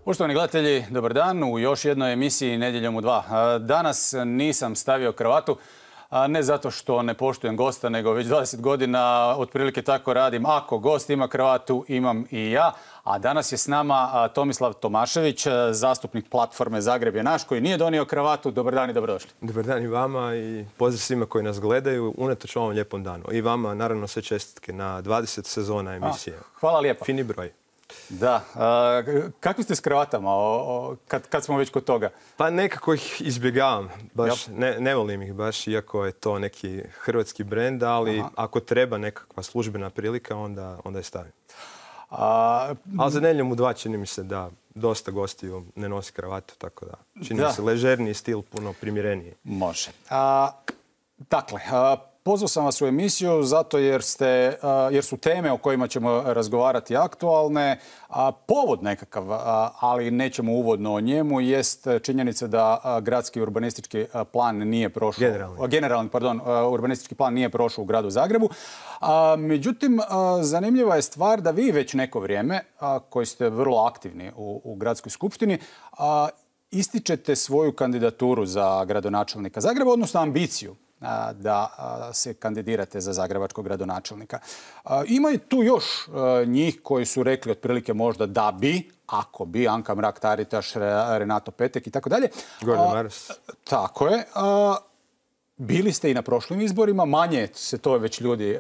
Poštovani gledatelji, dobar dan u još jednoj emisiji Nedjeljom u 2. Danas nisam stavio kravatu, ne zato što ne poštujem gosta, nego već 20 godina otprilike tako radim. Ako gost ima kravatu, imam i ja. A danas je s nama Tomislav Tomašević, zastupnik platforme Zagreb je naš, koji nije donio kravatu. Dobar dan i dobrodošli. Dobar dan i vama i pozdrav svima koji nas gledaju unatoč ovom lijepom danu. I vama naravno sve čestitke na 20 sezona emisije. Hvala lijepa. Fini broj. Da. Kakvi ste s kravatama, kad smo već kod toga? Pa nekako ih izbjegavam. Baš ne volim ih baš, iako je to neki hrvatski brend, ali ako treba nekakva službena prilika, onda je stavim. Ali za Nedjeljom u 2 čini mi se da dosta gostiju ne nosi kravatu, tako da čini mi se ležerniji stil, puno primjereniji. Može. Dakle, pozvao sam vas u emisiju zato jer su teme o kojima ćemo razgovarati aktualne. Povod nekakav, ali nećemo uvodno o njemu, jest činjenica da gradski urbanistički plan nije prošao. Generalni, urbanistički plan nije prošao u gradu Zagrebu. Međutim, zanimljiva je stvar da vi već neko vrijeme, koji ste vrlo aktivni u gradskoj skupštini, ističete svoju kandidaturu za gradonačelnika Zagreba, odnosno ambiciju da se kandidirate za zagrebačkog gradonačelnika. Ima i tu još njih koji su rekli otprilike možda da bi, ako bi, Anka Mrak-Taritaš, Renato Petek i tako dalje. Gordan Maras. Tako je. Bili ste i na prošlim izborima, manje se to već ljudi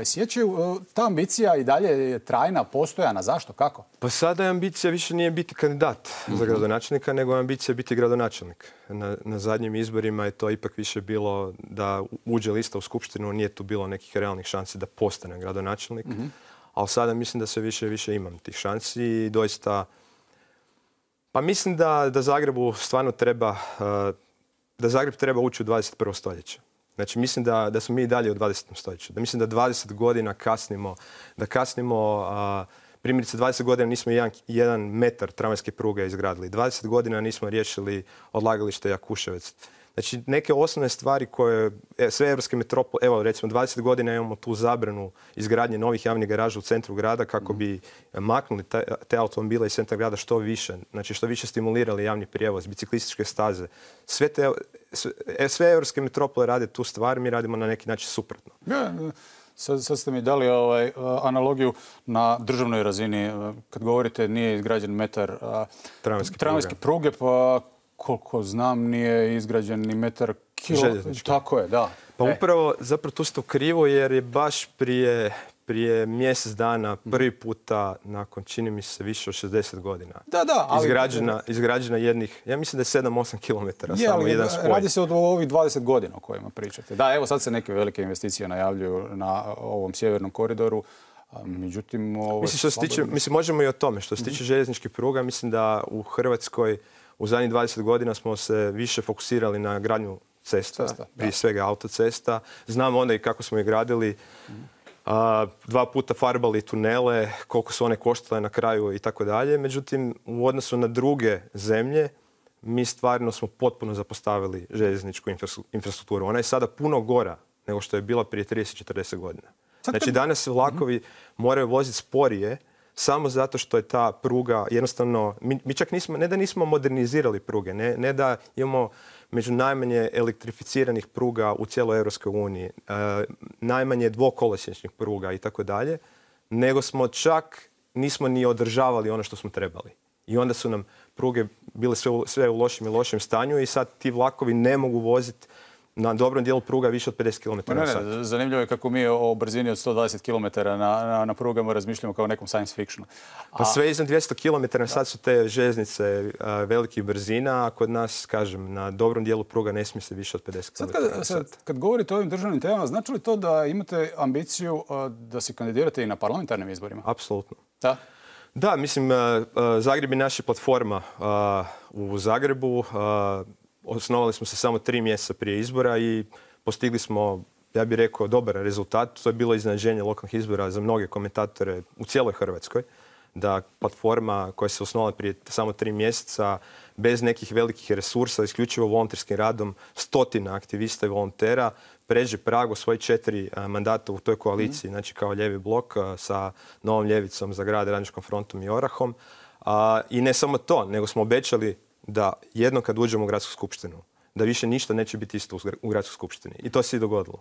sjećaju. Ta ambicija i dalje je trajna, postojana. Zašto? Kako? Pa sada je ambicija više nije biti kandidat za gradonačelnika, nego je ambicija biti gradonačelnik. Na zadnjim izborima je to ipak više bilo da uđe lista u skupštinu, nije tu bilo nekih realnih šansi da postane gradonačelnik. Ali sada mislim da sve više i više imam tih šansi i doista... Pa mislim da Zagrebu stvarno treba... da Zagreb treba ući u 21. stoljeće. Znači, mislim da smo mi i dalje u 20. stoljeću. Da mislim da 20 godina kasnimo, primjerice 20 godina nismo jedan metar tramvajske pruge izgradili. 20 godina nismo riješili odlagalište Jakuševec. Znači, neke osnovne stvari koje sve evropske metropole, evo recimo 20 godina imamo tu zabranu izgradnje novih javnih garaža u centru grada kako bi maknuli te automobile iz centra grada što više. Znači, što više stimulirali javni prijevoz, biciklističke staze. Sve evropske metropole rade tu stvar, mi radimo na neki način suprotno. Sad ste mi dali analogiju na državnoj razini. Kad govorite nije izgrađen metar tramvajske pruge, pa koliko znam nije izgrađen ni metar željeznički. Tako je, da. Pa upravo, zapravo tu ste u krivo jer je baš prije mjesec dana prvi puta nakon, čini mi se, više od 60 godina izgrađena jednih, ja mislim da je 7-8 kilometara, samo jedan spoj. Radi se o ovih 20 godina o kojima pričate. Da, evo sad se neke velike investicije najavljuju na ovom sjevernom koridoru. Međutim, mislim, možemo i o tome. Što se tiče željezničkih pruga, mislim da u Hrvatskoj u zadnjih 20 godina smo se više fokusirali na gradnju cesta, prije svega autocesta. Znamo onda i kako smo ih gradili. 2 puta farbali tunele, koliko su one koštale na kraju i tako dalje. Međutim, u odnosu na druge zemlje, mi stvarno smo potpuno zapostavili željezničku infrastrukturu. Ona je sada puno gora nego što je bila prije 30-40 godina. Znači, danas se vlakovi moraju voziti sporije samo zato što je ta pruga jednostavno... Mi čak ne da nismo modernizirali pruge, ne da imamo među najmanje elektrificiranih pruga u cijeloj Europskoj uniji, najmanje dvokolosječnih pruga i tako dalje, nego smo čak nismo ni održavali ono što smo trebali. I onda su nam pruge bile sve u lošem i lošem stanju i sad ti vlakovi ne mogu voziti na dobrom dijelu pruga više od 50 km na sat. Zanimljivo je kako mi o brzini od 120 km na prugama razmišljamo kao nekom science fictionu. Pa sve iznad 200 km na sat su te željeznice velikih brzina, a kod nas, kažem, na dobrom dijelu pruga ne smije se više od 50 km na sat. Kad govorite o ovim državnim temama, znači li to da imate ambiciju da se kandidirate i na parlamentarnim izborima? Apsolutno. Da? Da, mislim, Zagreb je naša platforma u Zagrebu. Osnovali smo se samo 3 mjeseca prije izbora i postigli smo, ja bih rekao, dobar rezultat. To je bilo iznenađenje lokalnih izbora za mnoge komentatore u cijeloj Hrvatskoj. Da platforma koja se osnovala prije samo 3 mjeseca, bez nekih velikih resursa, isključivo volonterskim radom, stotina aktivista i volontera, pređe prag u svoje 4 mandata u toj koaliciji, znači kao Lijevi blok sa Novom ljevicom za grad, Radničkom frontom i Orahom. I ne samo to, nego smo obećali da jednom kad uđemo u gradsku skupštinu, da više ništa neće biti isto u gradskoj skupštini. I to se i dogodilo.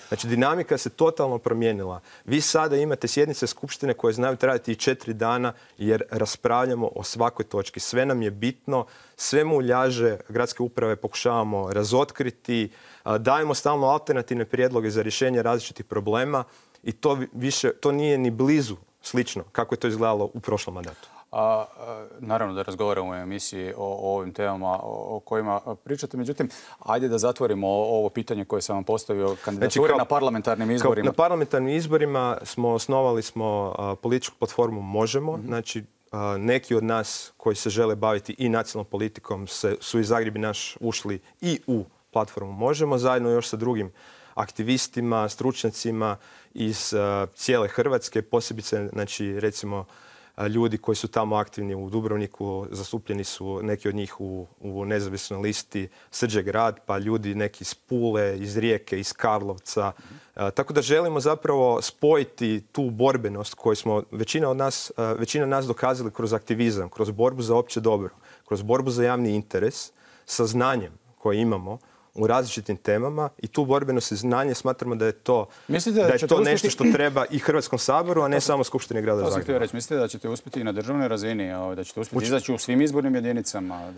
Znači, dinamika se totalno promijenila. Vi sada imate sjednice skupštine koje znaju trajati i 4 dana jer raspravljamo o svakoj točki. Sve nam je bitno, sve muljaže gradske uprave pokušavamo razotkriti, dajemo stalno alternativne prijedloge za rješenje različitih problema i to nije ni blizu slično kako je to izgledalo u prošlom mandatu. Naravno da razgovaramo u emisiji o ovim temama o kojima pričate. Međutim, ajde da zatvorimo ovo pitanje koje sam vam postavio, kandidature na parlamentarnim izborima. Na parlamentarnim izborima osnovali smo političku platformu Možemo. Znači, neki od nas koji se žele baviti i nacionalnom politikom su iz Zagreb i naš ušli i u platformu Možemo, zajedno još sa drugim aktivistima, stručnjacima iz cijele Hrvatske, posebice, znači, recimo, ljudi koji su tamo aktivni u Dubrovniku, zastupljeni su neki od njih u nezavisnoj listi Srđe grad, pa ljudi neki iz Pule, iz Rijeke, iz Karlovca. Tako da želimo zapravo spojiti tu borbenost koju smo većina nas dokazali kroz aktivizam, kroz borbu za opće dobro, kroz borbu za javni interes, sa znanjem koje imamo u različitim temama i tu borbenost i znanje smatramo da je to, nešto što treba i Hrvatskom saboru, a ne samo Skupštini grada Zagreba. Mislite da ćete uspjeti i na državnoj razini, da ćete uspjeti izaći u svim izbornim jedinicama?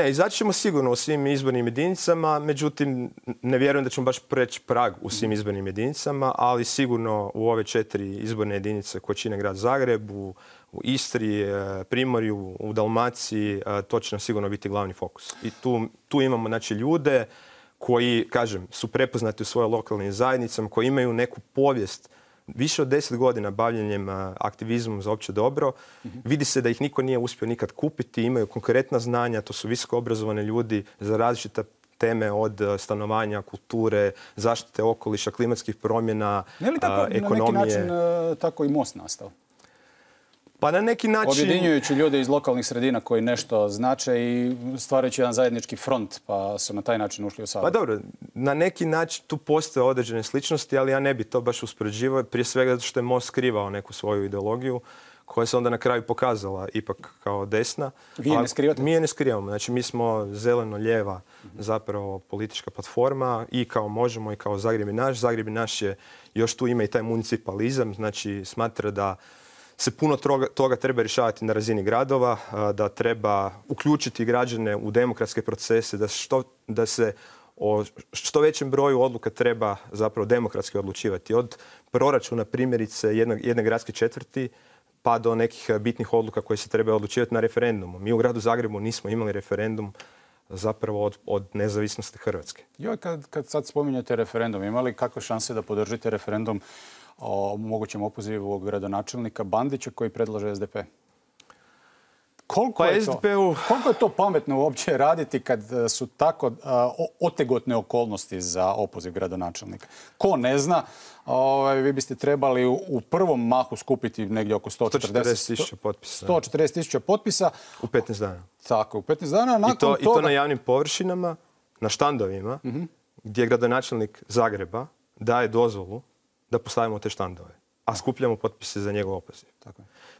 Izaći ćemo sigurno u svim izbornim jedinicama, međutim ne vjerujem da ćemo baš preći prag u svim izbornim jedinicama, ali sigurno u ove 4 izborne jedinice koje čine grad Zagreb, u Istri, Primorju, u Dalmaciji, to će nam sigurno biti glavni fokus. I tu imamo, znači, ljude koji, kažem, su prepoznati u svojoj lokalnim zajednicama, koji imaju neku povijest više od 10 godina bavljenjem aktivizmom za opće dobro. Vidi se da ih niko nije uspio nikad kupiti, imaju konkretna znanja, to su visoko obrazovani ljudi za različite teme od stanovanja, kulture, zaštite okoliša, klimatskih promjena, ekonomije. Na neki način tako i Most nastao? Pa na neki način... Objedinjujući ljude iz lokalnih sredina koji nešto znače i stvarajući jedan zajednički front, pa su na taj način ušli u sabor. Pa dobro, na neki način tu postoje određene sličnosti, ali ja ne bi to baš uspoređivao, prije svega zato što je Most skrivao neku svoju ideologiju koja se onda na kraju pokazala ipak kao desna. Vi je ne skrivate? Mi je ne skrivamo. Znači, mi smo zeleno-lijeva zapravo politička platforma i kao Možemo i kao Zagreb i naš. Zagreb i naš je, još tu ima i taj municipalizam, znači smatra da se puno toga treba rješavati na razini gradova, da treba uključiti građane u demokratske procese, da se o što većem broju odluka treba zapravo demokratski odlučivati. Od proračuna primjerice jedne gradske četvrti pa do nekih bitnih odluka koje se treba odlučivati na referendumu. Mi u gradu Zagrebu nismo imali referendum zapravo od nezavisnosti Hrvatske. Kad sad spominjete referendum, ima li kakve šanse da podržite referendum o mogućem opozivu gradonačelnika Bandića koji predlaže SDP? Koliko je to pametno uopće raditi kad su tako otegotne okolnosti za opoziv gradonačelnika? Ko ne zna, vi biste trebali u prvom mahu skupiti negdje oko 140.000 potpisa. 140.000 potpisa. U 15 dana. Tako, u 15 dana. I to na javnim površinama, na štandovima, gdje gradonačelnik Zagreba daje dozvolu da postavimo te štandove, a skupljamo potpise za njegov opoziv.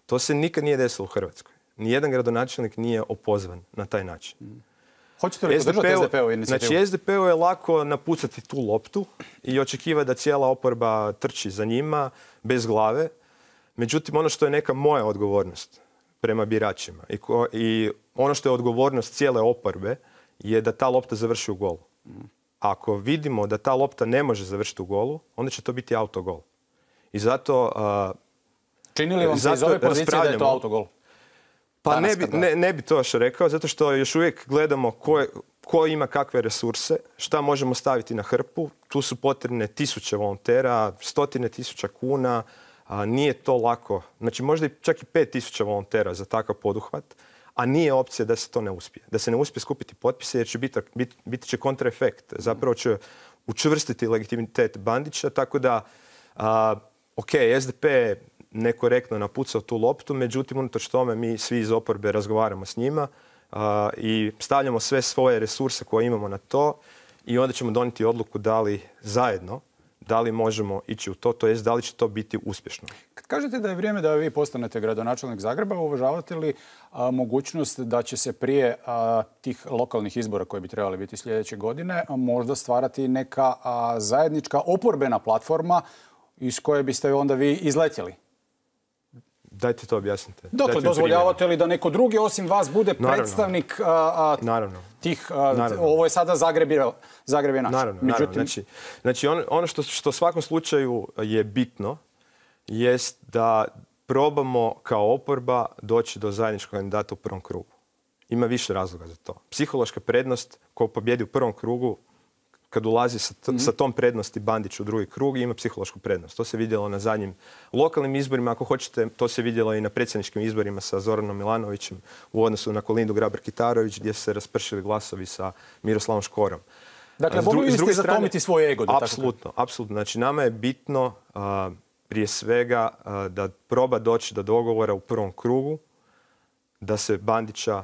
To se nikad nije desilo u Hrvatskoj. Nijedan gradonačelnik nije opozvan na taj način. Hoćete li podržati SDP-u inicijativu? Znači, SDP-u je lako napucati tu loptu i očekivati da cijela oporba trči za njima bez glave. Međutim, ono što je neka moja odgovornost prema biračima i ono što je odgovornost cijele oporbe je da ta lopta završi u golu. Ako vidimo da ta lopta ne može završiti u golu, onda će to biti autogol. I zato... Čini li vam se iz ove pozicije da je to autogol? Pa ne bi to još rekao, zato što još uvijek gledamo ko ima kakve resurse, šta možemo staviti na hrpu. Tu su potrebne 1000 volontera, 100.000 kuna, nije to lako. Znači možda čak i 5.000 volontera za takav poduhvat, a nije opcija da se to ne uspije. Da se ne uspije skupiti potpise jer će biti će kontraefekt. Zapravo će učvrstiti legitimitet Bandića, tako da SDP nekorektno napucao tu loptu, međutim, unatoč tome mi svi iz oporbe razgovaramo s njima i stavljamo sve svoje resurse koje imamo na to i onda ćemo donijeti odluku da li zajedno da li možemo ići u to jest da li će to biti uspješno. Kad kažete da je vrijeme da vi postanete gradonačelnik Zagreba, uvažavate li mogućnost da će se prije tih lokalnih izbora koji bi trebali biti sljedeće godine možda stvarati neka zajednička oporbena platforma iz koje biste onda vi izletjeli? Dajte to objasnite. Dakle, dozvoljavate li da neko drugi osim vas bude predstavnik tih... Ovo je sada Zagreb je naš. Naravno. Znači, ono što u svakom slučaju je bitno jest da probamo kao oporba doći do zajedničkog kandidata u prvom krugu. Ima više razloga za to. Psihološka prednost ko pobjedi u prvom krugu, kad ulazi sa tom prednosti Bandić u drugi krug, ima psihološku prednost. To se vidjelo na zadnjim lokalnim izborima. Ako hoćete, to se vidjelo i na predsjedničkim izborima sa Zoranom Milanovićem u odnosu na Kolindu Grabar-Kitarović, gdje su se raspršili glasovi sa Miroslavom Škorom. Dakle, volili ste zatomiti svoj ego. Apsolutno. Znači, nama je bitno prije svega da proba doći do dogovora u prvom krugu, da se Bandića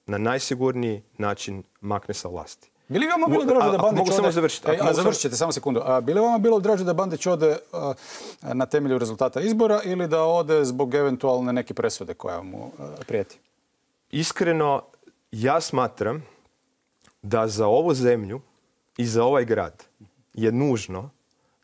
na najsigurniji način makne sa vlasti. Bi li vama bilo draže da Bandić ode... Mogu samo završiti. Završit ćete, samo sekundu. Bi li vama bilo draže da Bandić ode na temelju rezultata izbora ili da ode zbog eventualne neke presude koja mu prijeti? Iskreno, ja smatram da za ovu zemlju i za ovaj grad je nužno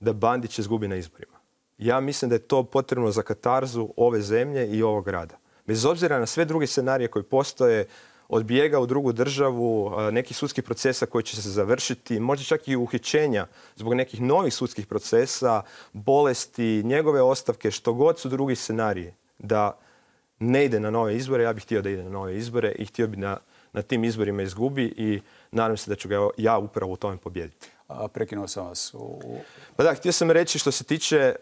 da Bandić izgubi na izborima. Ja mislim da je to potrebno za katarzu ove zemlje i ovog grada. Bez obzira na sve druge scenarije koji postoje, od bijega u drugu državu, nekih sudskih procesa koji će se završiti, možda čak i uhićenja zbog nekih novih sudskih procesa, bolesti, njegove ostavke, što god su drugi scenariji, da ne ide na nove izbore. Ja bih htio da ide na nove izbore i htio bih na tim izborima izgubi i nadam se da ću ga ja upravo u tome pobijediti. Prekinuo sam vas. Pa da, htio sam reći što se tiče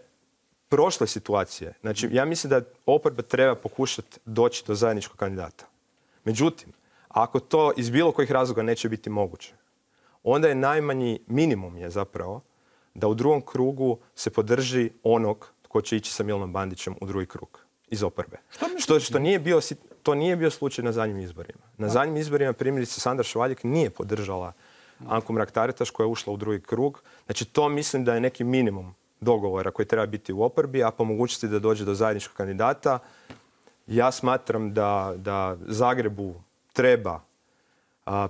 prošle situacije. Znači, ja mislim da oporba treba pokušati doći do zajedničkog kandidata. Međutim, ako to iz bilo kojih razloga neće biti moguće, onda je najmanji minimum je zapravo da u drugom krugu se podrži onog tko će ići sa Milanom Bandićem u drugi krug iz oporbe. To nije bio slučaj na zadnjim izborima. Na zadnjim izborima primjerice Sandra Švaljek nije podržala Anku Mrak-Taritaš koja je ušla u drugi krug. Znači to mislim da je neki minimum dogovora koji treba biti u oporbi, a po mogućnosti da dođe do zajedničkog kandidata. Ja smatram da Zagrebu treba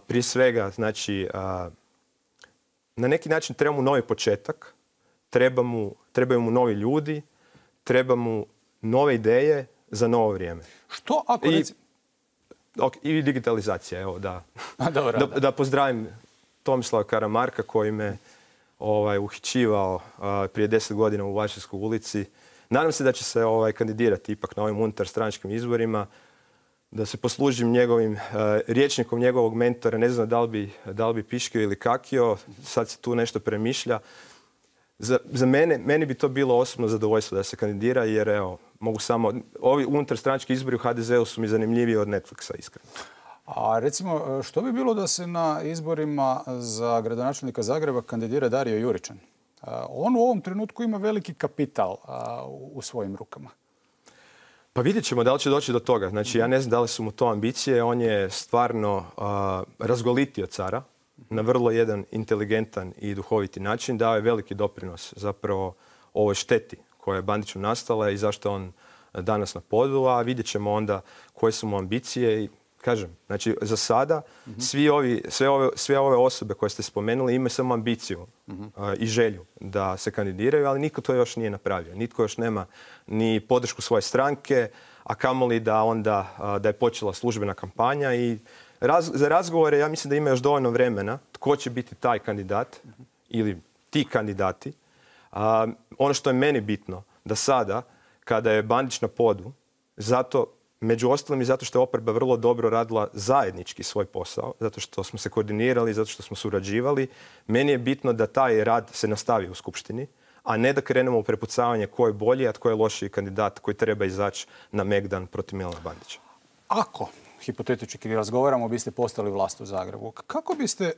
prije svega, znači, na neki način treba mu novi početak, trebaju mu novi ljudi, treba mu nove ideje za novo vrijeme. Što ako I digitalizacija, evo, da. Dobro, da pozdravim Tomislava Karamarka koji me uhićivao prije 10 godina u Vašarskoj ulici. Nadam se da će se kandidirati ipak na ovim unutarstranačkim izborima, da se poslužim njegovim rječnikom njegovog mentora. Ne znam da li bi piškio ili kakio, sad se tu nešto premišlja. Za mene bi to bilo osobno zadovoljstvo da se kandidira, jer evo, mogu samo... Ovi unutarstranački izbori u HDZ-u su mi zanimljiviji od Netflixa, iskreno. A recimo, što bi bilo da se na izborima za gradonačelnika Zagreba kandidira Dario Juričan? On u ovom trenutku ima veliki kapital u svojim rukama. Pa vidjet ćemo da li će doći do toga. Znači, ja ne znam da li su mu to ambicije. On je stvarno razgolitio cara na vrlo jedan inteligentan i duhoviti način. Dao je veliki doprinos zapravo ovoj šteti koja je Bandiću nastala i zašto on danas na podu, a vidjet ćemo onda koje su mu ambicije. I kažem, znači za sada sve ove osobe koje ste spomenuli imaju samo ambiciju i želju da se kandidiraju, ali niko to još nije napravio. Nitko još nema ni podršku svoje stranke, a kamoli da je počela službena kampanja i za razgovore ja mislim da ima još dovoljno vremena tko će biti taj kandidat ili ti kandidati. Ono što je meni bitno da sada kada je Bandić na podu, među ostalim i zato što je oporba vrlo dobro radila zajednički svoj posao, zato što smo se koordinirali, zato što smo surađivali. Meni je bitno da taj rad se nastavi u Skupštini, a ne da krenemo u prepucavanje ko je bolji, a tko je lošiji kandidat koji treba izaći na Megdan protiv Milana Bandića. Ako, hipotetički razgovaramo, biste postali vlast u Zagrebu, kako biste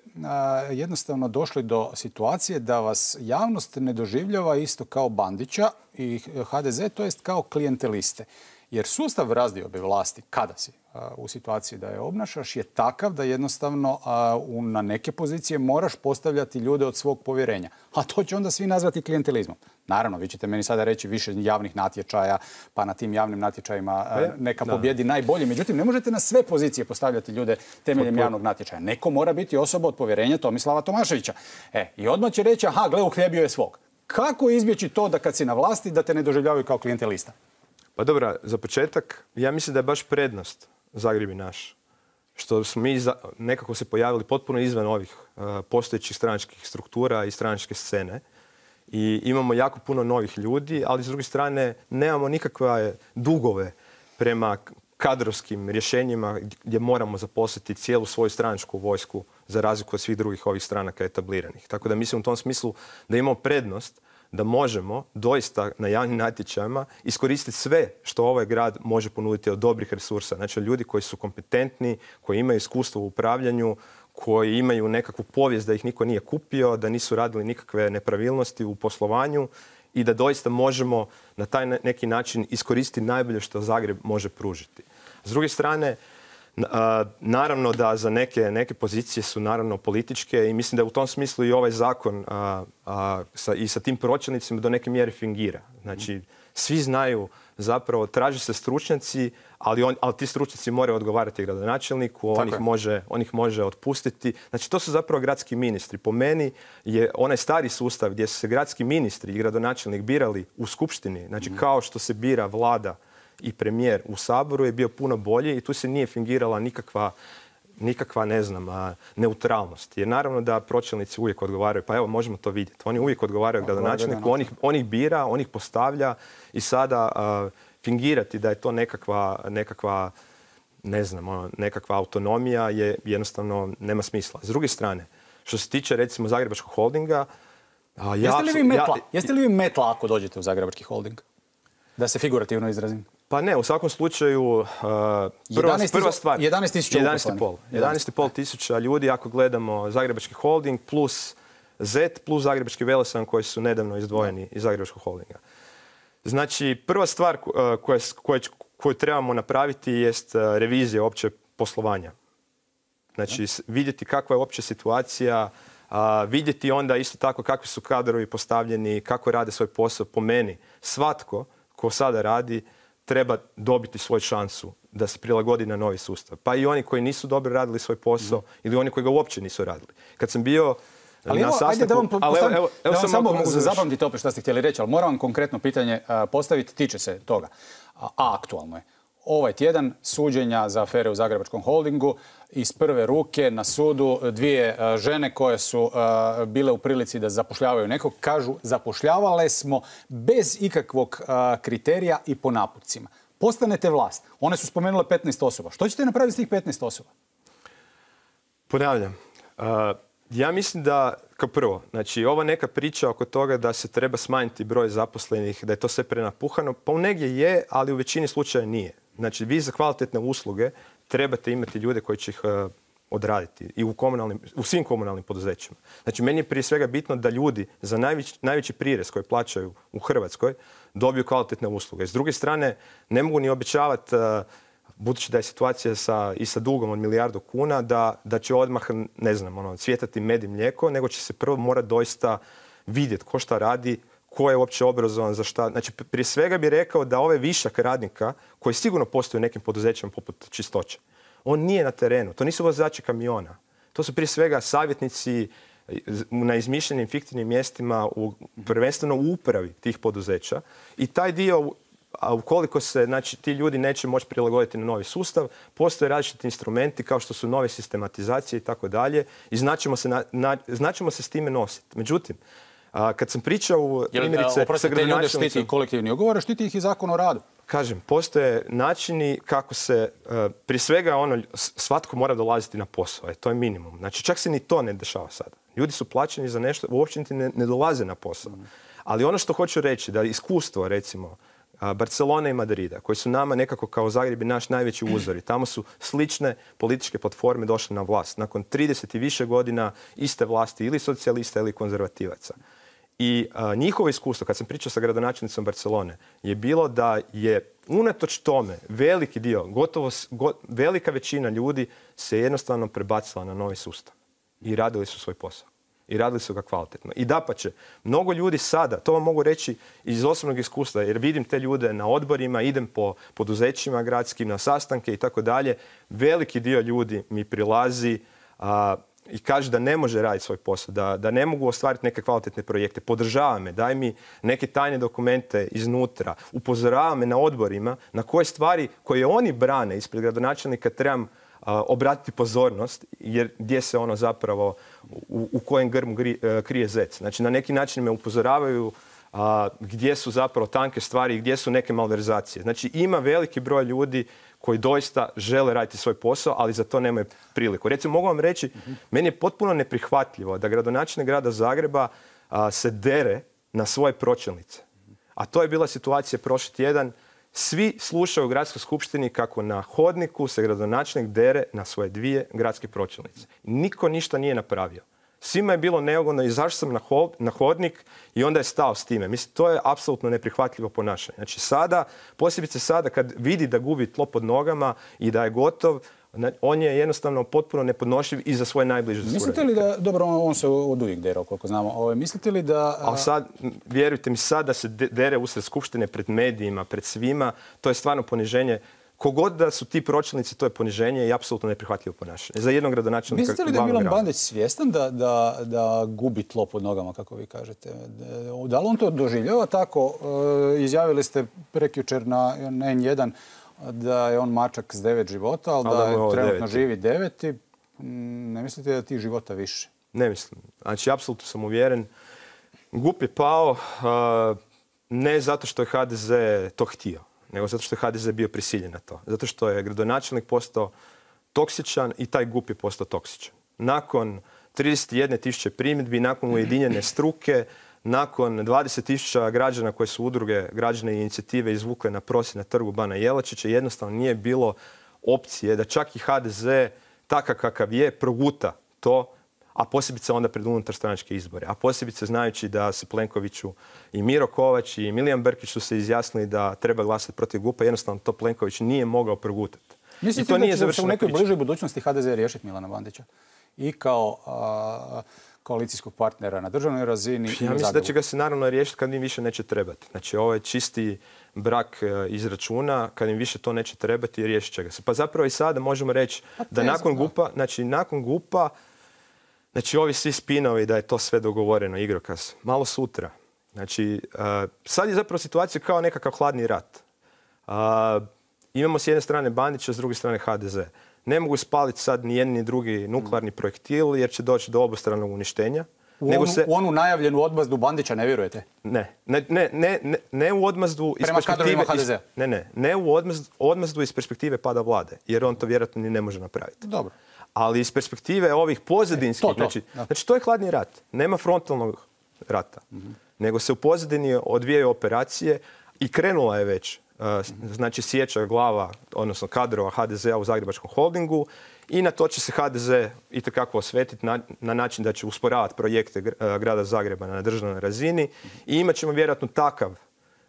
jednostavno došli do situacije da vas javnost ne doživljava isto kao Bandića i HDZ, to jest kao klijenteliste? Jer sustav razdiobe vlasti, kada si u situaciji da je obnašaš je takav da jednostavno na neke pozicije moraš postavljati ljude od svog povjerenja. A to će onda svi nazvati klijentelizmom. Naravno, vi ćete meni sada reći više javnih natječaja, pa na tim javnim natječajima neka pobjedi najbolji. Međutim, ne možete na sve pozicije postavljati ljude temeljem javnog natječaja. Neko mora biti osoba od povjerenja Tomislava Tomaševića. I odmah će reći, aha, gle, uhljebio je svog. Kako izbjeći to da kad si na vlasti da te ne doživljavaju kao klijentelista? Pa dobro, za početak, ja mislim da je baš prednost Zagreb je naš. Što smo mi nekako se pojavili potpuno izvan ovih postojećih stranačkih struktura i stranačke scene. I imamo jako puno novih ljudi, ali s druge strane nemamo nikakve dugove prema kadrovskim rješenjima gdje moramo zaposliti cijelu svoju stranačku vojsku za razliku od svih drugih ovih stranaka etabliranih. Tako da mislim u tom smislu da imamo prednost da možemo doista na javnim natječajima iskoristiti sve što ovaj grad može ponuditi od dobrih resursa. Znači ljudi koji su kompetentni, koji imaju iskustvo u upravljanju, koji imaju nekakvu povijest da ih niko nije kupio, da nisu radili nikakve nepravilnosti u poslovanju i da doista možemo na taj neki način iskoristiti najbolje što Zagreb može pružiti. S druge strane, naravno da za neke pozicije su naravno političke i mislim da u tom smislu i ovaj zakon i sa tim pročelnicima do neke mjere fingira. Znači, svi znaju zapravo, traže se stručnjaci, ali ti stručnjaci moraju odgovarati gradonačelniku, on ih može otpustiti. Znači, to su zapravo gradski ministri. Po meni je onaj stari sustav gdje su se gradski ministri i gradonačelnik birali u skupštini, znači kao što se bira vlada i premijer u Saboru, je bio puno bolji i tu se nije fingirala nikakva ne znam, neutralnost. Jer naravno da pročelnici uvijek odgovaraju, pa evo možemo to vidjeti. Oni uvijek odgovaraju gradonačelniku, on ih bira, on ih postavlja i sada fingirati da je to nekakva ne znam, nekakva autonomija je jednostavno nema smisla. S druge strane, što se tiče recimo Zagrebačkog holdinga, jeste li vi metla ako dođete u Zagrebački holding? Da se figurativno izrazim. Pa ne, u svakom slučaju prva stvar 11,5 tisuća ljudi ako gledamo Zagrebački holding plus Z plus Zagrebački Velesajam koji su nedavno izdvojeni iz Zagrebačkog holdinga. Znači, prva stvar koju trebamo napraviti jest revizija opće poslovanja. Znači, vidjeti kakva je opća situacija, vidjeti onda isto tako kakvi su kadrovi postavljeni, kako rade svoj posao. Po meni, svatko ko sada radi treba dobiti svoju šansu da se prilagodi na novi sustav. Pa i oni koji nisu dobro radili svoj posao ili oni koji ga uopće nisu radili. Kad sam bio na sastanku... Ajde da vam samo zapamtite opet što ste htjeli reći, ali moram vam konkretno pitanje postaviti, tiče se toga. Aktualno je. Ovaj tjedan suđenja za afere u Zagrebačkom holdingu iz prve ruke na sudu dvije žene koje su bile u prilici da zapošljavaju nekog, kažu zapošljavale smo bez ikakvog kriterija i po naputcima. Postanete vlast. One su spomenule 15 osoba. Što ćete napraviti s tih 15 osoba? Ponavljam. Ja mislim da, kao prvo, znači ova neka priča oko toga da se treba smanjiti broj zaposlenih, da je to sve prenapuhano, pa u negdje je, ali u većini slučaja nije. Znači, vi za kvalitetne usluge trebate imati ljude koji će ih odraditi i u svim komunalnim poduzećima. Znači, meni je prije svega bitno da ljudi za najveći prirez koji plaćaju u Hrvatskoj dobiju kvalitetne usluge. S druge strane, ne mogu ni obećavati, budući da je situacija i sa dugom od 1 milijardu kuna, da će odmah, ne znam, cvjetati med i mlijeko, nego će se prvo morati doista vidjeti ko šta radi, ko je uopće obrazovan za šta. Znači, prije svega bih rekao da ovaj višak radnika, koji sigurno postoji u nekim poduzećima poput Čistoće, on nije na terenu. To nisu vozači kamiona. To su prije svega savjetnici na izmišljenim fiktivnim mjestima, prvenstveno u upravi tih poduzeća. I taj dio, a ukoliko se ti ljudi neće moći prilagoditi na novi sustav, postoje različiti instrumenti kao što su nove sistematizacije i tako dalje i znaćemo se s time nositi. Međutim, kad sam pričao primjerice sa gradonačelnicom... Štiti kolektivni ugovor, štiti ih i Zakon o radu. Kažem, postoje načini kako se, prije svega svatko mora dolaziti na posao, to je minimum. Znači, čak se ni to ne dešava sada. Ljudi su plaćeni za nešto, uopće niti ne dolaze na posao. Ali ono što hoću reći, da iskustvo, recimo, Barcelona i Madrida, koji su nama nekako kao Zagreb i naš najveći uzori. Tamo su slične političke platforme došle na vlast. Nakon 30 i više godina iste vlasti ili socijalista ili konzervativaca. I njihovo iskustvo, kad sam pričao sa gradonačelnicom Barcelone, je bilo da je unatoč tome, veliki dio, velika većina ljudi se jednostavno prebacila na novi sustav. I radili su svoj posao. I radili su ga kvalitetno. I dapače, mnogo ljudi sada, to vam mogu reći iz osobnog iskustva, jer vidim te ljude na odborima, idem po poduzećima gradskim, na sastanke i tako dalje. Veliki dio ljudi mi prilazi i kaže da ne može raditi svoj posao, da ne mogu ostvariti neke kvalitetne projekte. Podržava me, daj mi neke tajne dokumente iznutra, upozorava me na odborima na koje stvari koje oni brane ispred gradonačelnika trebam obratiti pozornost, jer gdje se ono zapravo, u kojem grmu krije zec. Znači, na neki način me upozoravaju gdje su zapravo tanke stvari i gdje su neke malverzacije. Znači, ima veliki broj ljudi koji doista žele raditi svoj posao, ali za to nemaju priliku. Recimo, mogu vam reći, meni je potpuno neprihvatljivo da gradonačelnik grada Zagreba se dere na svoje pročelnice. A to je bila situacija prošli tjedan. Svi slušaju u gradskoj skupštini kako na hodniku se gradonačelnik dere na svoje 2 gradske pročelnice. Niko ništa nije napravio. Svima je bilo neugodno, izašao sam na hodnik i onda je stao s time. Mislim, to je apsolutno neprihvatljivo ponašanje. Znači sada, posebice sada kad vidi da gubi tlo pod nogama i da je gotov, on je jednostavno potpuno nepodnošljiv i za svoje najbliže suradnike. Mislite li da, dobro, on se od uvijek derao, koliko znamo, mislite li da... Ali sad, vjerujte mi, sad da se dere usred skupštine pred medijima, pred svima, to je stvarno poniženje. Kogod da su ti pročelnici, to je poniženje i apsolutno neprihvatljivo ponašanje. Za jednog gradonačelnika. Mislite li da je Milan Bandić svjestan da gubi tlo pod nogama, kako vi kažete? Da li on to doživljava tako? Izjavili ste prekjučer na N1 da je on mačak s 9 života, ali da je trenutno živi 9 i ne mislite da je tih života više? Ne mislim. Znači, apsolutno sam uvjeren. GUP je pao ne zato što je HDZ to htio, nego zato što je HDZ bio prisiljen na to. Zato što je gradonačelnik postao toksičan i taj GUP je postao toksičan. Nakon 31.000 primjedbi, nakon ujedinjene struke, nakon 20.000 građana koje su udruge građane inicijative izvukle na prosvjed na trgu Bana Jelačića, jednostavno nije bilo opcije da čak i HDZ, takav kakav je, proguta to, a posebice onda pred unutarstranačke izbore. A posebice znajući da se Plenkoviću i Miro Kovač i Milijan Brkić su se izjasnili da treba glasati protiv GUP-a, jednostavno to Plenković nije mogao progutati. Mislite da će se u nekoj bližoj budućnosti HDZ riješiti Milana Bandića? I kao koalicijskog partnera na državnoj razini? Ja mislim da će ga se naravno riješiti kad im više neće trebati. Znači, ovo je čisti brak iz računa, kad im više to neće trebati, riješit će ga se. Pa zapravo i sada možemo reći da nakon GUP-a, znači, ovi svi spinovi da je to sve dogovoreno, igrokaz, malo sutra. Znači, sad je zapravo situacija kao nekakav hladni rat. Imamo s jedne strane Bandića, s druge strane HDZ. Ne mogu spaliti sad ni jedan ni drugi nuklearni projektil jer će doći do obostranog uništenja. U onu najavljenu odmazdu Bandića ne vjerujete? Ne u odmazdu iz perspektive HDZ-a. Ne u odmazdu iz perspektive pada vlade, jer on to vjerojatno ni ne može napraviti. Dobro. Ali iz perspektive ovih pozadinskih, znači to je hladni rat. Nema frontalnog rata, nego se u pozadini odvijaju operacije i krenula je već, znači sjeća glava, odnosno kadrova HDZ-a u Zagrebačkom holdingu i na to će se HDZ itekako osvetiti na način da će usporavati projekte grada Zagreba na državnoj razini i imat ćemo vjerojatno takav,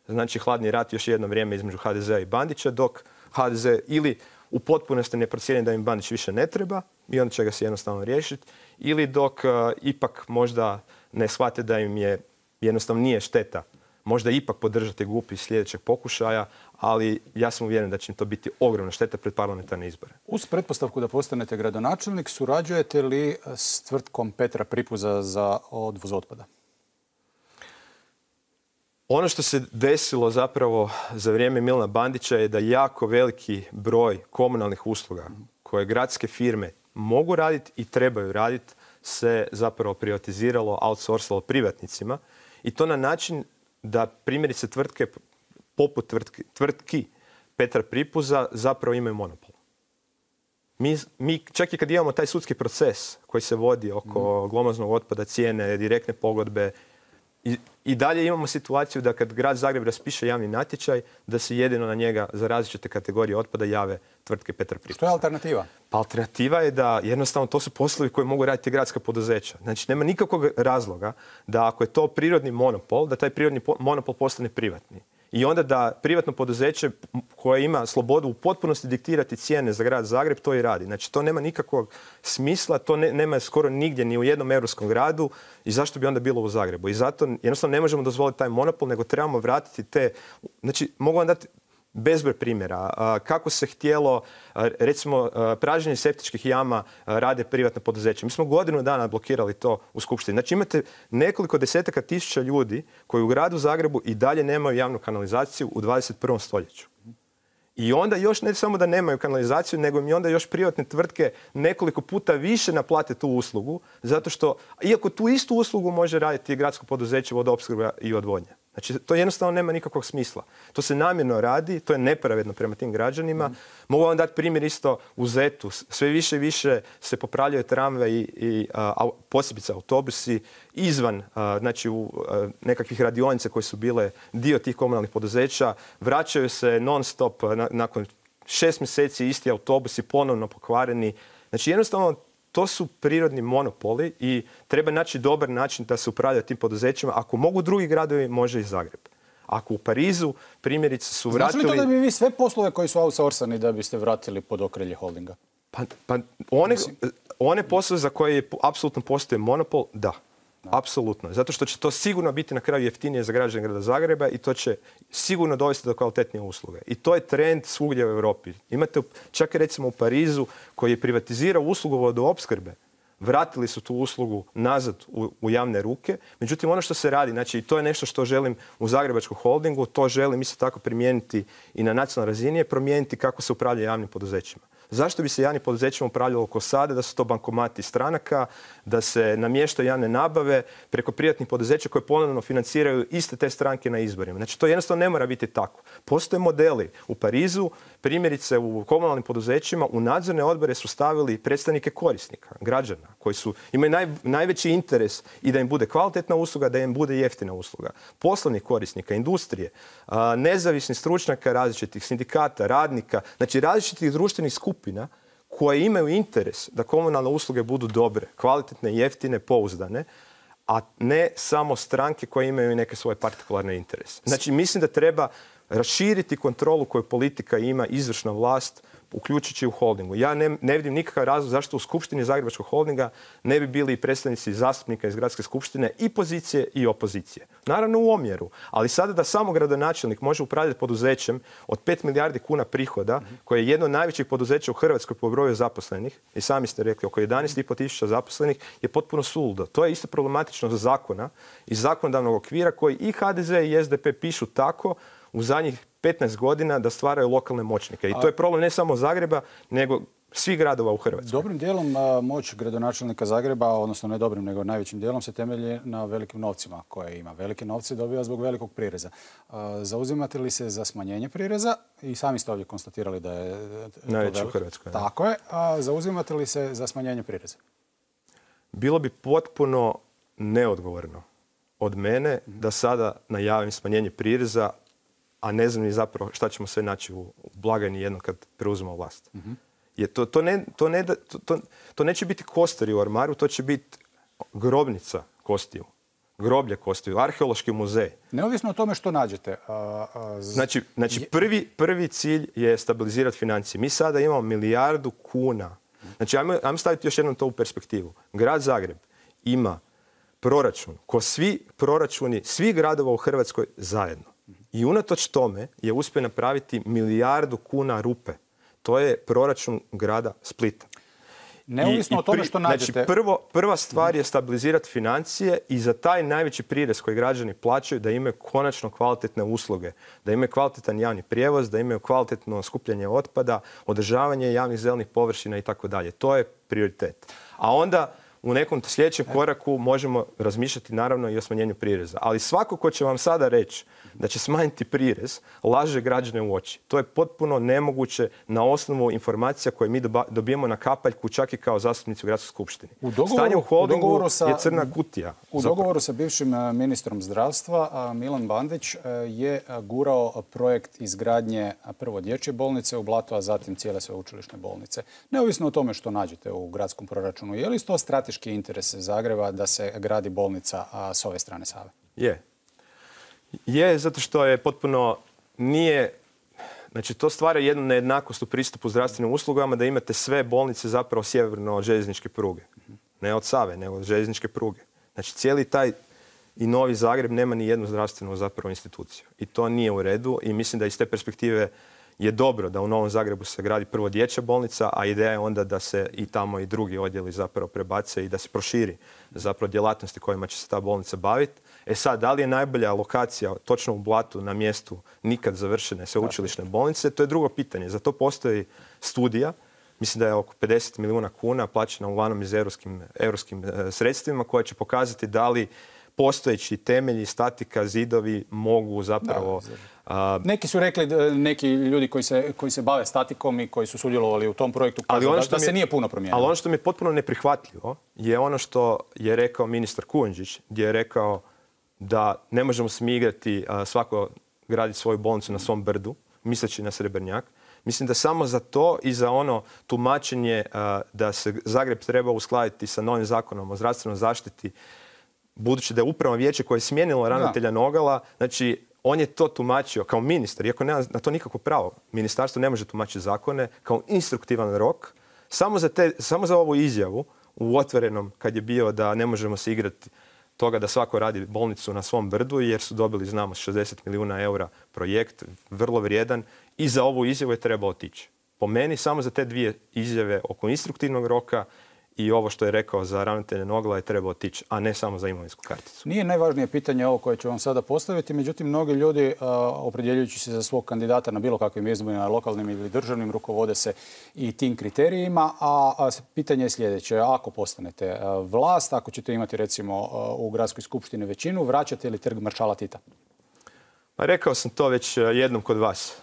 znači hladni rat još jedno vrijeme između HDZ-a i Bandića, dok HDZ ili u potpunosti ne procijeni da im Bandić više ne treba i onda će ga se jednostavno riješiti, ili dok ipak možda ne shvate da im je jednostavno nije šteta možda ipak podržati GUP iz sljedećeg pokušaja, ali ja sam uvjeren da će im to biti ogromna šteta pred parlamentarne izbore. Uz pretpostavku da postanete gradonačelnik, surađujete li s tvrtkom Petra Pripuza za odvoz otpada? Ono što se desilo zapravo za vrijeme Milana Bandića je da jako veliki broj komunalnih usluga koje gradske firme mogu raditi i trebaju raditi se zapravo privatiziralo, outsourcalo privatnicima i to na način da primjerice tvrtke poput tvrtki Petra Pripuza zapravo imaju monopol. Mi čak i kad imamo taj sudski proces koji se vodi oko glomaznog otpada, cijene, direktne pogodbe, i dalje imamo situaciju da kad grad Zagreb raspiše javni natječaj, da se jedino na njega za različite kategorije otpada jave tvrtke Petra Pripuza. Što je alternativa? Pa alternativa je da jednostavno to su poslovi koji mogu raditi gradska poduzeća. Znači nema nikakvog razloga da ako je to prirodni monopol, da taj prirodni monopol postane privatni. i onda da privatno poduzeće koje ima slobodu u potpunosti diktirati cijene za grad Zagreb, to i radi. Znači, to nema nikakvog smisla, to nema skoro nigdje, ni u jednom europskom gradu i zašto bi onda bilo u Zagrebu. I zato jednostavno ne možemo dozvoliti taj monopol, nego trebamo vratiti te... Znači, mogu vam dati bezbroj primjera. Kako se htjelo, recimo, pražnjenje septičkih jama rade privatne poduzeće. Mi smo godinu dana blokirali to u Skupštini. Znači, imate nekoliko desetaka tisuća ljudi koji u gradu Zagrebu i dalje nemaju javnu kanalizaciju u 21. stoljeću. I onda još ne samo da nemaju kanalizaciju, nego im onda još privatne tvrtke nekoliko puta više naplate tu uslugu, zato što, iako tu istu uslugu može raditi gradsko poduzeće vodoopskrba i odvodnja. Znači, to jednostavno nema nikakvog smisla. To se namjerno radi, to je nepravedno prema tim građanima. Mogu vam dati primjer isto u Zetu. Sve više i više se popravljaju tramvaji i posebice autobusi izvan, znači u nekakvih radionica koje su bile dio tih komunalnih poduzeća. Vraćaju se non stop nakon 6 mjeseci isti autobusi ponovno pokvareni. Znači, jednostavno, to su prirodni monopoli i treba naći dobar način da se upravlja tim poduzećima. Ako mogu drugi gradovi, može i Zagreb. Ako u Parizu, primjerice, su vratili... Znači li to da bi vi sve poslove koji su outsourcani da biste vratili pod okrilje holdinga? Pa one poslove za koje apsolutno postoji monopol, da. Apsolutno. Zato što će to sigurno biti na kraju jeftinije za građane grada Zagreba i to će sigurno dovesti do kvalitetnije usluge. I to je trend svugdje u Europi. Imate čak i recimo u Parizu koji je privatizirao uslugu vodoopskrbe. Vratili su tu uslugu nazad u javne ruke. Međutim, ono što se radi, znači to je nešto što želim u Zagrebačkom holdingu, to želim isto tako primijeniti i na nacionalnoj razini, je promijeniti kako se upravlja javnim poduzećima. Zašto bi se javnim poduzećima upravljalo ko sada, da su to bankomati stranaka, da se namještaju javne nabave preko privatnih poduzeća koje ponovno financiraju iste te stranke na izborima. Znači, to jednostavno ne mora biti tako. Postoje modeli u Parizu, primjerice u komunalnim poduzećima, u nadzorne odbore su stavili predstavnike korisnika, građana, koji imaju najveći interes i da im bude kvalitetna usluga, da im bude jeftina usluga. Poslovnih korisnika, industrije, nezavisnih stručnjaka različitih, sindikata, radnika, znači različitih društvenih skupina koje imaju interes da komunalne usluge budu dobre, kvalitetne, jeftine, pouzdane, a ne samo stranke koje imaju neke svoje partikularne interese. Znači, mislim da treba raširiti kontrolu koju politika ima, izvršna vlast, uključujući u holdingu. Ja ne vidim nikakav razlog zašto u Skupštini Zagrebačkog holdinga ne bi bili predstavnici zastupnika iz Gradske skupštine i pozicije i opozicije. Naravno u omjeru, ali sada da samo gradonačelnik može upravljati poduzećem od 5 milijardi kuna prihoda, koje je jedno od najvećih poduzeća u Hrvatskoj po broju zaposlenih, i sami ste rekli oko 11,5 tisuća zaposlenih, je potpuno suludo. To je isto problematično za zakona i zakonodavnog okvira koji i HDZ i SDP pišu tako u zadnjih 15 godina da stvaraju lokalne moćnike. I to je problem ne samo Zagreba, nego svih gradova u Hrvatskoj. Dobrim dijelom moć gradonačelnika Zagreba, odnosno ne dobrim, nego najvećim dijelom se temelji na velikim novcima koje ima. Velike novce dobiva zbog velikog prireza. Zauzimate li se za smanjenje prireza? I sami ste ovdje konstatirali da je najveći u Hrvatskoj. Tako je. Zauzimate li se za smanjenje prireza? Bilo bi potpuno neodgovorno od mene da sada najavim smanjenje prireza, a ne znam ni zapravo šta ćemo sve naći u blagajni jednom kad preuzmemo vlast. To neće biti kosturi u ormaru, to će biti grobnica kostiju, groblje kostiju, arheološki muzej. Neovisno o tome što nađete. Znači prvi cilj je stabilizirati financije. Mi sada imamo 1 milijardu kuna. Znači, ajmo staviti još jednom to u perspektivu. Grad Zagreb ima proračun, ko svi proračuni svih gradova u Hrvatskoj zajedno. I unatoč tome je uspio napraviti 1 milijardu kuna rupe. To je proračun grada Splita. Neovisno o tome što nađete... Znači, prva stvar je stabilizirati financije i za taj najveći prirez koji građani plaćaju da imaju konačno kvalitetne usluge, da imaju kvalitetan javni prijevoz, da imaju kvalitetno skupljanje otpada, održavanje javnih zelenih površina i tako dalje. To je prioritet. A onda u nekom sljedećem koraku možemo razmišljati naravno i o smanjenju prireza. Ali svako ko će vam sada reći da će smanjiti prirez, laže građane u oči. To je potpuno nemoguće na osnovu informacija koje mi dobijemo na kapaljku, čak i kao zastupnici u Gradskoj skupštini. Stanje u holdingu je crna kutija. U dogovoru sa bivšim ministrom zdravstva Milan Bandić je gurao projekt izgradnje prvo dječje bolnice u Blatu, a zatim cijele sveučilišne bolnice. Neovisno o tome što nađete u gradskom proračunu, je li to strateški interes Zagreba da se gradi bolnica s ove strane Save? Je, zato što je potpuno nije... Znači, to stvara jednu nejednakost u pristupu zdravstvenim uslugama, da imate sve bolnice zapravo sjeverno od željezničke pruge. Ne od Save, nego od željezničke pruge. Znači, cijeli taj i Novi Zagreb nema ni jednu zdravstvenu zapravo instituciju. I to nije u redu i mislim da iz te perspektive je dobro da u Novom Zagrebu se gradi prvo dječja bolnica, a ideja je onda da se i tamo i drugi odjeli zapravo prebace i da se proširi zapravo djelatnosti kojima će se ta bolnica baviti. E sad, da li je najbolja lokacija točno u Blatu na mjestu nikad završene sveučilišne bolnice, to je drugo pitanje. Za to postoji studija, mislim da je oko 50 milijuna kuna plaćena uglavnom iz europskim sredstvima, koja će pokazati da li postojeći temelji, statika, zidovi mogu zapravo... Neki su rekli, neki ljudi koji se bave statikom i koji su sudjelovali u tom projektu, da se nije puno promijenilo. Ali ono što mi je potpuno neprihvatljivo je ono što je rekao ministar Kujundžić, gdje je rekao da ne možemo se mi igrati svako graditi svoju bolnicu na svom brdu, misleći na Srebrnjak. Mislim da samo za to i za ono tumačenje da se Zagreb treba uskladiti sa novim zakonom o zdravstvenoj zaštiti, budući da je upravno vijeće koje je smijenilo ravnatelja Nogala, znači on je to tumačio kao ministar, iako nema na to nikakvo pravo. Ministarstvo ne može tumačiti zakone kao instruktivan rok, samo za ovu izjavu u Otvorenom, kad je bio da ne možemo se igrati toga da svako radi bolnicu na svom brdu, jer su dobili, znamo, 60 milijuna eura projekt, vrlo vrijedan, i za ovu izjavu je trebao otići. Po meni, samo za te dvije izjave oko instruktivnog roka i ovo što je rekao za ravnatelja Nogala je trebao otići, a ne samo za imovinsku karticu. Nije najvažnije pitanje ovo koje ću vam sada postaviti, međutim, mnogi ljudi, opredjeljujući se za svog kandidata na bilo kakvim izborima, lokalnim ili državnim, rukovode se i tim kriterijima, a pitanje je sljedeće. Ako postanete vlast, ako ćete imati, recimo, u gradskoj skupštini većinu, vraćate li trg maršala Tita? Pa rekao sam to već jednom kod vas.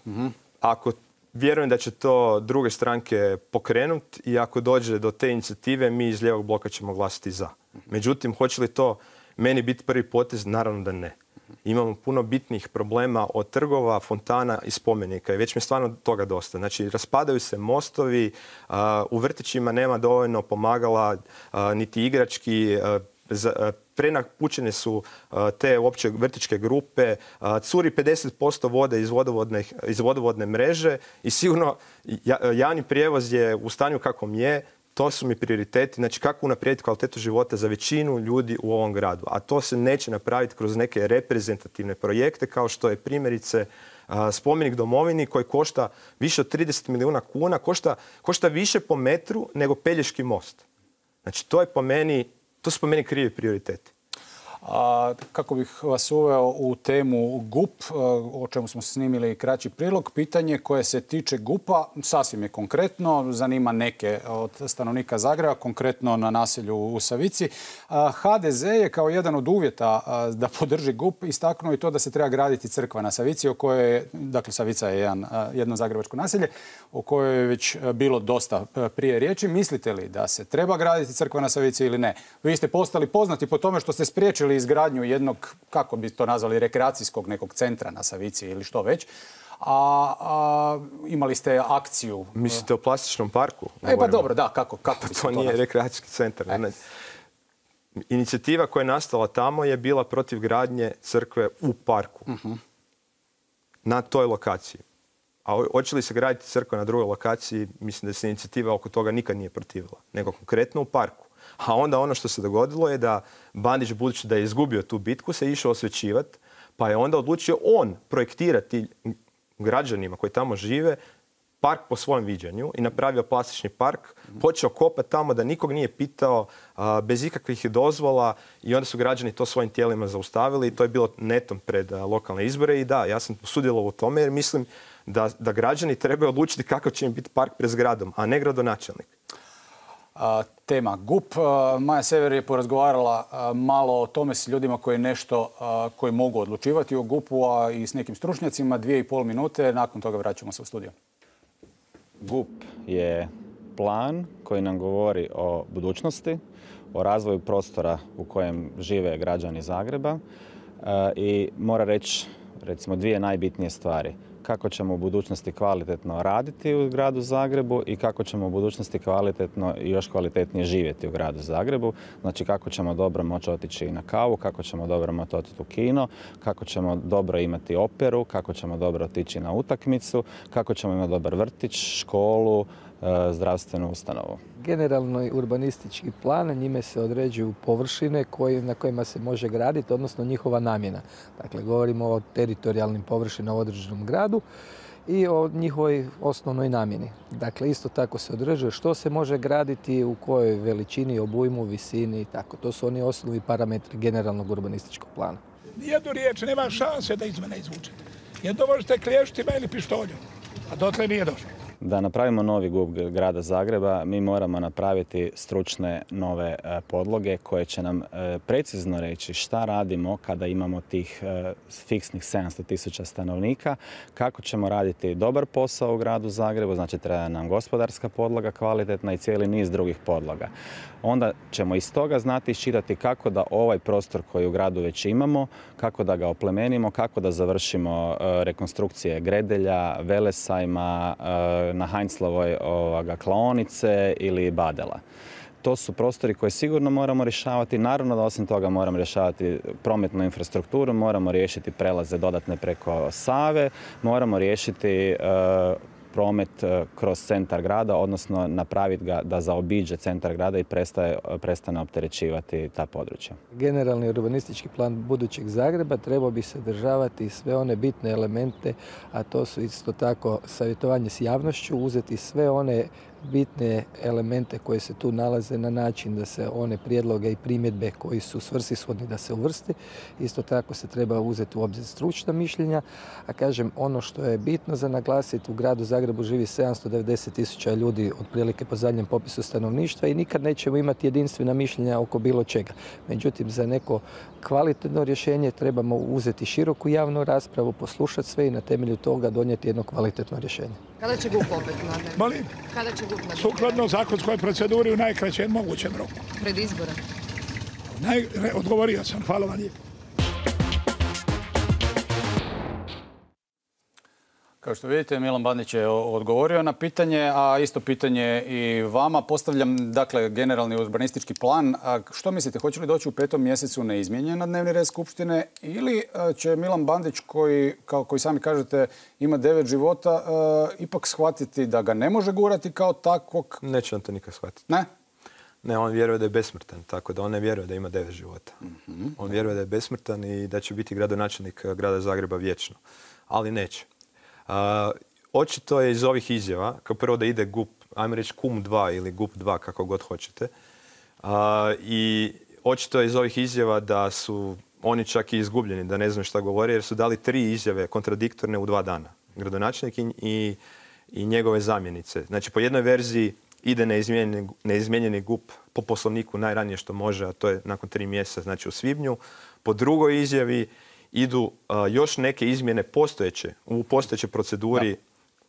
Ako vjerujem da će to druge stranke pokrenuti i ako dođe do te inicijative, mi iz lijevog bloka ćemo glasiti za. Međutim, hoće li to meni biti prvi potez? Naravno da ne. Imamo puno bitnih problema od trgova, fontana i spomenika i već mi je stvarno toga dosta. Znači, raspadaju se mostovi, u vrtićima nema dovoljno pomagala, niti igrački, prenapučene su te opće vrtićke grupe, curi 50% vode iz vodovodne mreže i sigurno javni prijevoz je u stanju kakvom je. To su mi prioriteti, znači kako unaprijediti kvalitetu života za većinu ljudi u ovom gradu. A to se neće napraviti kroz neke reprezentativne projekte kao što je primjerice spomenik domovini koji košta više od 30 milijuna kuna, košta više po metru nego Pelješki most. Znači to su po meni krivi prioriteti. Kako bih vas uveo u temu GUP, o čemu smo snimili kraći prilog, pitanje koje se tiče GUP-a sasvim je konkretno, zanima neke od stanovnika Zagreba, konkretno na naselju u Savici. HDZ je kao jedan od uvjeta da podrži GUP istaknuo i to da se treba graditi crkva na Savici, o kojoj, dakle Savica je jedno zagrebačko naselje, o kojoj je već bilo dosta prije riječi. Mislite li da se treba graditi crkva na Savici ili ne? Vi ste postali poznati po tome što ste spriječili izgradnju jednog, kako bi to nazvali, rekreacijskog nekog centra na Savici ili što već. Imali ste akciju. Mislite o plastičnom parku? Pa dobro, da, kako to nije rekreacijski centar. Inicijativa koja je nastala tamo je bila protiv gradnje crkve u parku. Na toj lokaciji. A hoće li se graditi crkva na drugoj lokaciji, mislim da se inicijativa oko toga nikad nije protivila, nego konkretno u parku. A onda ono što se dogodilo je da Bandić, budući da je izgubio tu bitku, se išao osvećivati, pa je onda odlučio on projektirati građanima koji tamo žive park po svojem viđenju i napravio plastični park, počeo kopati tamo da nikog nije pitao, bez ikakvih dozvola, i onda su građani to svojim tijelima zaustavili i to je bilo netom pred lokalne izbore. I da, ja sam sudjelovao u tome jer mislim da građani trebaju odlučiti kakav će im biti park pred zgradom, a ne gradonačelnik. Tema GUP. Maja Sever je porazgovarala malo o tome s ljudima koji mogu odlučivati o GUP-u, a i s nekim stručnjacima. 2,5 minute, nakon toga vraćamo se u studio. GUP je plan koji nam govori o budućnosti, o razvoju prostora u kojem žive građani Zagreba i mora reći, recimo, dvije najbitnije stvari. kako ćemo u budućnosti kvalitetno raditi u gradu Zagrebu i kako ćemo u budućnosti kvalitetno i još kvalitetnije živjeti u gradu Zagrebu. Znači kako ćemo dobro moći otići na kavu, kako ćemo dobro moći otići u kino, kako ćemo dobro imati operu, kako ćemo dobro otići na utakmicu, kako ćemo imati dobar vrtić, školu, zdravstvenu ustanovu. Generalno urbanistički plan, njime se određuju površine na kojima se može graditi, odnosno njihova namjena. Dakle, govorimo o teritorijalnim površinama u određenom gradu i o njihovoj osnovnoj namjeni. Dakle, isto tako se određuje što se može graditi, u kojoj veličini, obujmu, visini i tako. To su oni osnovni parametri generalnog urbanističkog plana. Nijednu riječ nema šanse da iz mene izvučete. Jedno možete klještima ili pištoljom, a dotle nije došlo. Da napravimo novi GUP grada Zagreba, mi moramo napraviti stručne nove podloge koje će nam precizno reći šta radimo kada imamo tih fiksnih 700.000 stanovnika, kako ćemo raditi dobar posao u gradu Zagrebu, znači treba nam gospodarska podloga kvalitetna i cijeli niz drugih podloga. Onda ćemo iz toga znati iščitati kako da ovaj prostor koji u gradu već imamo, kako da ga oplemenimo, kako da završimo rekonstrukcije Gredelja, Velesajma, na Heinzlovoj klaonice ili Badela. To su prostori koje sigurno moramo rješavati. Naravno da osim toga moramo rješavati prometnu infrastrukturu, moramo riješiti prelaze dodatne preko Save, moramo riješiti promet kroz centar grada, odnosno napraviti ga da zaobiđe centar grada i prestane opterećivati ta područja. Generalni urbanistički plan budućeg Zagreba trebao bi sadržavati sve one bitne elemente, a to su isto tako savjetovanje s javnošću, uzeti sve one bitne elemente koje se tu nalaze na način da se one prijedloge i primjedbe koji su svrsishodni da se uvrsti. Isto tako se treba uzeti u obzir stručna mišljenja, a kažem ono što je bitno za naglasiti, u gradu Zagrebu živi 790.000 ljudi otprilike po zadnjem popisu stanovništva i nikad nećemo imati jedinstvena mišljenja oko bilo čega. Međutim, za neko kvalitetno rješenje trebamo uzeti široku javnu raspravu, poslušati sve i na temelju toga donijeti jedno kvalitetno rješenje. Kada će GUP opet nadalje? Molim? Kada će GUP nadalje? Sukladno zakonskoj proceduri u najkraćem mogućem roku. Pred izbore? Odgovorio sam, hvala vam lijepo. Kao što vidite, Milan Bandić je odgovorio na pitanje, a isto pitanje i vama. Postavljam, dakle, generalni urbanistički plan. Što mislite, hoće li doći u 5. mjesecu neizmijenjen na dnevni red Skupštine ili će Milan Bandić, koji sami kažete ima 9 života, ipak shvatiti da ga ne može gurati kao takvog? Neće on to nikad shvatiti. Ne? Ne, on vjeruje da je besmrtan, tako da on ne vjeruje da ima 9 života. On vjeruje da je besmrtan i da će biti gradonačelnik grada Zagreba vječno. Ali neće. Očito je iz ovih izjava, kao prvo da ide GUP, ajmo reći KUM 2 ili GUP 2, kako god hoćete. I očito je iz ovih izjava da su oni čak i izgubljeni, da ne znaju šta govore, jer su dali 3 izjave kontradiktorne u 2 dana. Gradonačelnik i njegove zamjenice. Znači, po jednoj verziji ide neizmijenjeni GUP po poslovniku najranije što može, a to je nakon 3 mjeseca, znači u svibnju. Po drugoj izjavi idu još neke izmjene u postojećoj proceduri,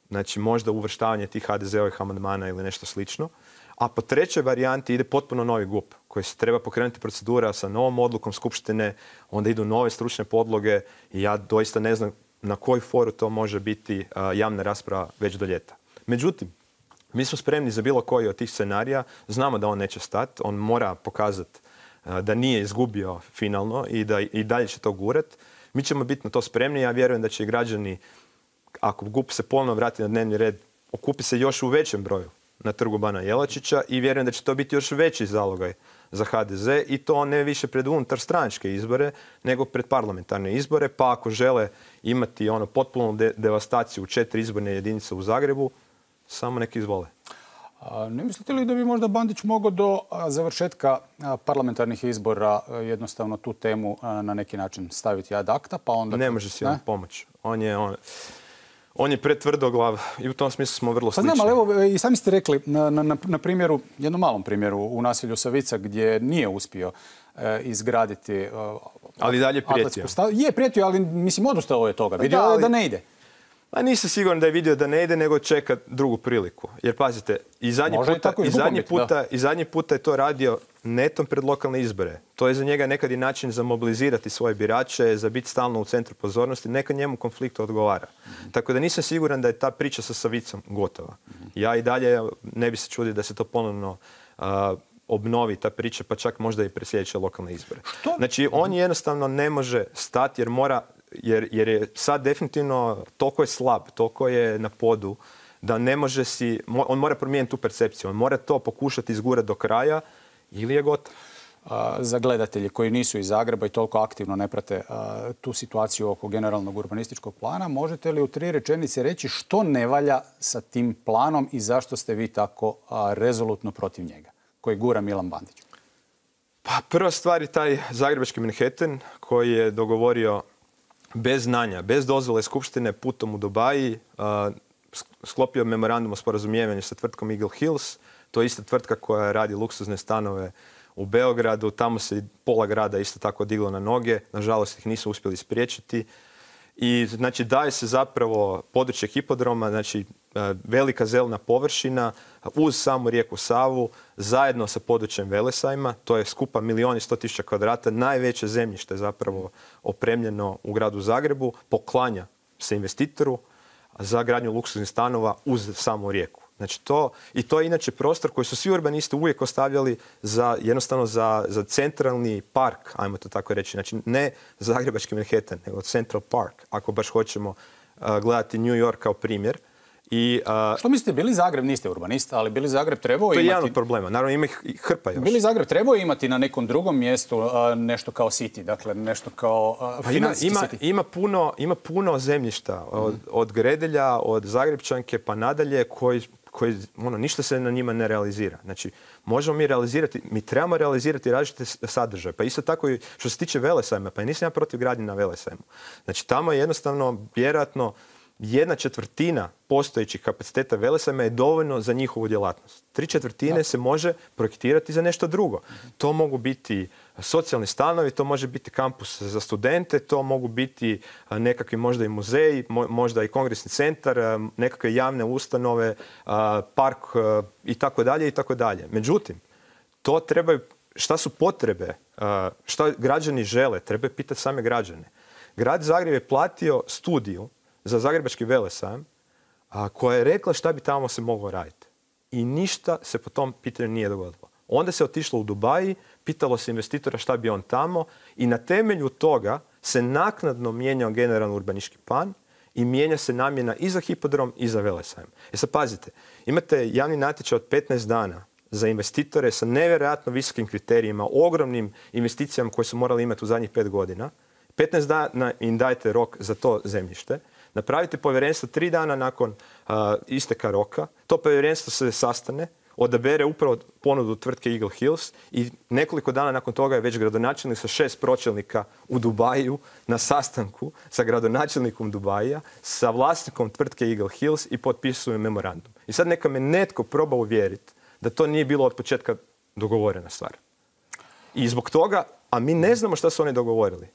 znači možda uvrštavanje tih HDZ-ovih amandmana ili nešto slično. A po trećoj varijanti ide potpuno novi GUP koji se treba pokrenuti procedura sa novom odlukom Skupštine, onda idu nove stručne podloge i ja doista ne znam na koji foru to može biti javna rasprava već do ljeta. Međutim, mi smo spremni za bilo koji od tih scenarija, znamo da on neće stati, on mora pokazati da nije izgubio finalno i da i dalje će to gurat. Mi ćemo biti na to spremni. Ja vjerujem da će i građani, ako GUP se ponovno vrati na dnevni red, okupi se još u većem broju na Trgu bana Jelačića i vjerujem da će to biti još veći zalogaj za HDZ i to ne više pred unutarstranačke izbore, nego pred parlamentarne izbore. Pa ako žele imati potpunu devastaciju u 4 izborne jedinice u Zagrebu, samo neki izvole. Ne mislite li da bi možda Bandić mogao do završetka parlamentarnih izbora jednostavno tu temu na neki način staviti ad acta, pa onda... Ne može si on pomoći. On je pretvrdoglav i u tom smislu smo vrlo slični. Pa znam, ali evo i sami ste rekli na primjeru, jednom malom primjeru u naselju Savica gdje nije uspio izgraditi... Ali dalje prijetio. Je prijetio, ali mislim odustao je toga. Vidio je da ne ide. Pa nisam siguran da je vidio da ne ide, nego čeka drugu priliku. Jer pazite, i zadnji puta je to radio netom pred lokalne izbore. To je za njega nekad i način za mobilizirati svoje birače, za biti stalno u centru pozornosti. Neka njemu konflikt odgovara. Tako da nisam siguran da je ta priča sa Savicom gotova. Ja i dalje ne bi se čudio da se to ponovno obnovi ta priča, pa čak možda i pred sljedeće lokalne izbore. Znači, on jednostavno ne može stati jer je sad definitivno toliko je slab, toliko je na podu, da ne može on mora promijeniti tu percepciju, on mora to pokušati izgurati do kraja ili je gotov. Za gledatelji koji nisu iz Zagreba i toliko aktivno ne prate tu situaciju oko generalnog urbanističkog plana, možete li u 3 rečenice reći što ne valja sa tim planom i zašto ste vi tako rezolutno protiv njega, koji gura Milan Bandić? Pa prva stvar je taj zagrebački Manhattan koji je dogovorio bez znanja, bez dozvole skupštine putom u Dubaji, sklopio memorandum o sporazumijevanju sa tvrtkom Eagle Hills. To je ista tvrtka koja radi luksuzne stanove u Beogradu. Tamo se pola grada isto tako diglo na noge. Nažalost ih nisu uspjeli spriječiti. I znači daje se zapravo područje hipodroma, znači velika zelena površina uz samu rijeku Savu, zajedno sa područjem Velesajma. To je skupa 1.100.000 kvadrata, najveće zemljište zapravo opremljeno u gradu Zagrebu, poklanja se investitoru za gradnju luksuznih stanova uz samu rijeku. Znači to je inače prostor koji su svi urbanisti uvijek ostavljali jednostavno za centralni park, ajmo to tako reći. Znači ne zagrebački Manhattan, nego Central Park, ako baš hoćemo gledati New York kao primjer. Što mislite, Bili Zagreb, niste urbanista, ali Bili Zagreb trebao imati... To je jedan od problema, naravno ima ih hrpa još. Bili Zagreb trebao imati na nekom drugom mjestu nešto kao city, dakle nešto kao financijski city. Ima puno zemljišta, od Gredelja, od Zagrebčanke pa nadalje, koji ništa se na njima ne realizira. Znači, mi trebamo realizirati različite sadržaje. Pa isto tako i što se tiče Velesajma, pa nisam ja protiv gradnje na Velesajmu. Znači, tamo je jednostavno, vjerojatno, 1/4 postojećih kapaciteta Velesajma je dovoljno za njihovu djelatnost. 3/4 se može projektirati za nešto drugo. To mogu biti socijalni stanovi, to može biti kampus za studente, to mogu biti nekakvi možda i muzeji, možda i kongresni centar, nekakve javne ustanove, park i tako dalje i tako dalje. Međutim, to trebaju, šta su potrebe, šta građani žele, treba pitati same građane. Grad Zagreb je platio studiju za zagrebački Velesajam, koja je rekla šta bi tamo se moglo raditi. I ništa se po tom pitanju nije dogodilo. Onda se otišlo u Dubaji, pitalo se investitora šta bi on tamo i na temelju toga se naknadno mijenjao generalni urbanistički plan i mijenja se namjena i za hipodrom i za Velesajam. Sad pazite, imate javni natječaj od 15 dana za investitore sa nevjerojatno visokim kriterijima, ogromnim investicijama koje su morali imati u zadnjih 5 godina. 15 dana im dajete rok za to zemljište. Napravite povjerenstvo 3 dana nakon isteka roka. To povjerenstvo se sastane, odabere upravo ponudu tvrtke Eagle Hills i nekoliko dana nakon toga je već gradonačelnik sa 6 pročelnika u Dubaju na sastanku sa gradonačelnikom Dubaija, sa vlasnikom tvrtke Eagle Hills i potpisuju memorandum. I sad neka me netko proba uvjeriti da to nije bilo od početka dogovorena stvar. I zbog toga, a mi ne znamo šta su oni dogovorili.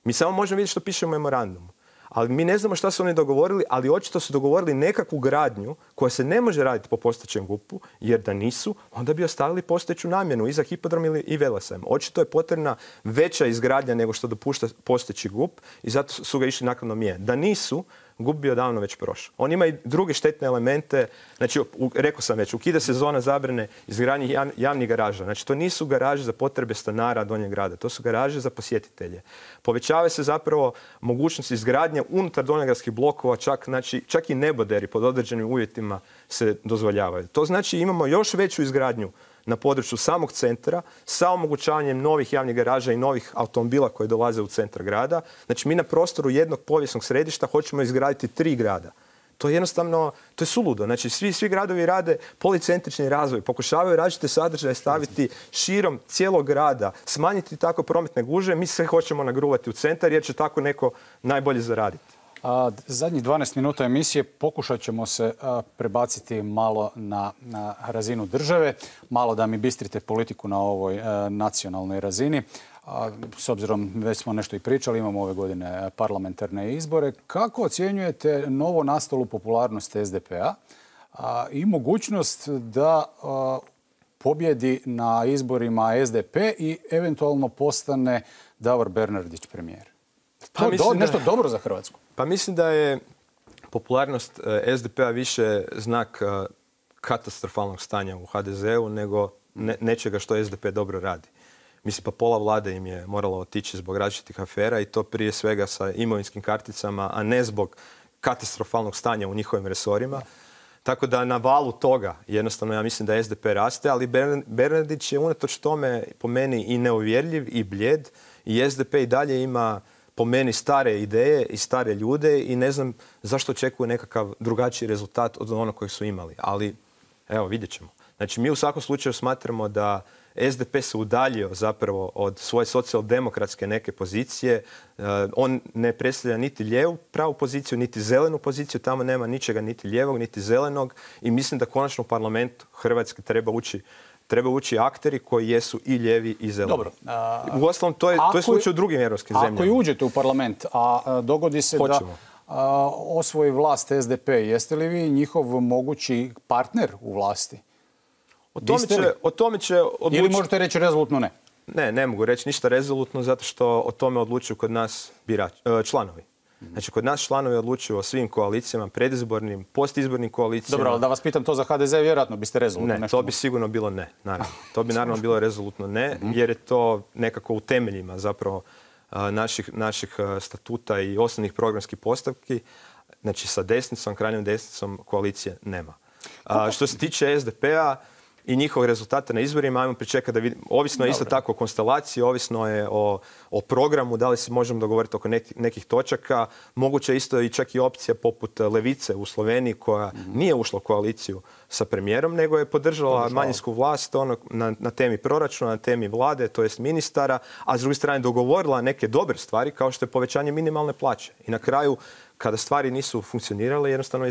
Mi samo možemo vidjeti što piše u memorandumu. Ali mi ne znamo šta su oni dogovorili, ali očito su dogovorili nekakvu gradnju koja se ne može raditi po postojećem GUP-u, jer da nisu, onda bi ostavili postojeću namjenu i za hipodrom i Velesajam. Očito je potrebna veća izgradnja nego što dopušta postojeći GUP i zato su ga išli naknadno mijenjati. Da nisu, GUP bi odavno već prošao. On ima i druge štetne elemente, znači, rekao sam već, ukida se zona zabrane izgradnje javnih garaža. Znači, to nisu garaže za potrebe stanara Donjeg grada, to su garaže za posjetitelje. Povećava se zapravo mogućnost izgradnje unutar donjogradskih blokova, čak i neboderi pod određenim uvjetima se dozvoljavaju. To znači imamo još veću izgradnju na području samog centra sa omogućavanjem novih javnih garaža i novih automobila koji dolaze u centar grada. Znači mi na prostoru jednog povijesnog središta hoćemo izgraditi 3 grada. To je jednostavno, to je suludo. Znači svi gradovi rade policentrični razvoj, pokušavaju različite sadržaje staviti širom cijelog grada, smanjiti tako prometne gužve, mi sve hoćemo nagruvati u centar jer će tako neko najbolje zaraditi. Zadnjih 12 minuta emisije pokušat ćemo se prebaciti malo na razinu države, malo da mi bistrite politiku na ovoj nacionalnoj razini. S obzirom, već smo nešto i pričali, imamo ove godine parlamentarne izbore. Kako ocjenjujete novo nastalu popularnost SDP-a i mogućnost da pobjedi na izborima SDP i eventualno postane Davor Bernardić premijer? To je nešto dobro za Hrvatsku? Pa mislim da je popularnost SDP-a više znak katastrofalnog stanja u HDZ-u nego nečega što SDP dobro radi. Mislim, pa pola vlade im je moralo otići zbog različitih afera i to prije svega sa imovinskim karticama, a ne zbog katastrofalnog stanja u njihovim resorima. Tako da na valu toga jednostavno ja mislim da SDP raste, ali Bernardić je unatoč tome po meni i neuvjerljiv i bljed i SDP i dalje ima po meni stare ideje i stare ljude i ne znam zašto očekuju nekakav drugačiji rezultat od onog kojeg su imali. Ali evo, vidjet ćemo. Znači, mi u svakom slučaju smatramo da SDP se udaljio zapravo od svoje socijaldemokratske neke pozicije. On ne predstavlja niti lijevu pravu poziciju, niti zelenu poziciju. Tamo nema ničega niti lijevog, niti zelenog. I mislim da konačno u parlamentu Hrvatske treba ući akteri koji jesu i lijevi i zeleni. Dobro. Uostalom, to je slučaj u drugim europskim zemljama. Ako i uđete u parlament, a dogodi se da osvoji vlast SDP, jeste li vi njihov mogući partner u vlasti? O tome će odlučiti... Ili možete reći rezolutno ne? Ne mogu reći ništa rezolutno zato što o tome odlučuju kod nas članovi. Znači, kod nas članovi odlučuju o svim koalicijama, predizbornim, postizbornim koalicijama. Dobro, ali da vas pitam to za HDZ, vjerojatno biste rezolutno nešto... Ne, to bi sigurno bilo ne, naravno. To bi naravno bilo rezolutno ne, jer je to nekako u temeljima zapravo naših statuta i osnovnih programskih postavki. Znači, sa desnicom, krajnjom desnicom koalicije nema. Što se tiče SDP-a i njihovog rezultata na izborima, ajmo pričekati da vidimo. Ovisno je isto tako o konstelaciji, ovisno je o programu, da li se možemo dogovoriti oko nekih točaka. Moguće je isto i čak i opcija poput Levice u Sloveniji koja nije ušla u koaliciju sa premijerom, nego je podržala manjinsku vlast na temi proračuna, na temi vlade, to jest ministara, a s druge strane dogovorila neke dobre stvari kao što je povećanje minimalne plaće. I na kraju, kada stvari nisu funkcionirale, jednostavno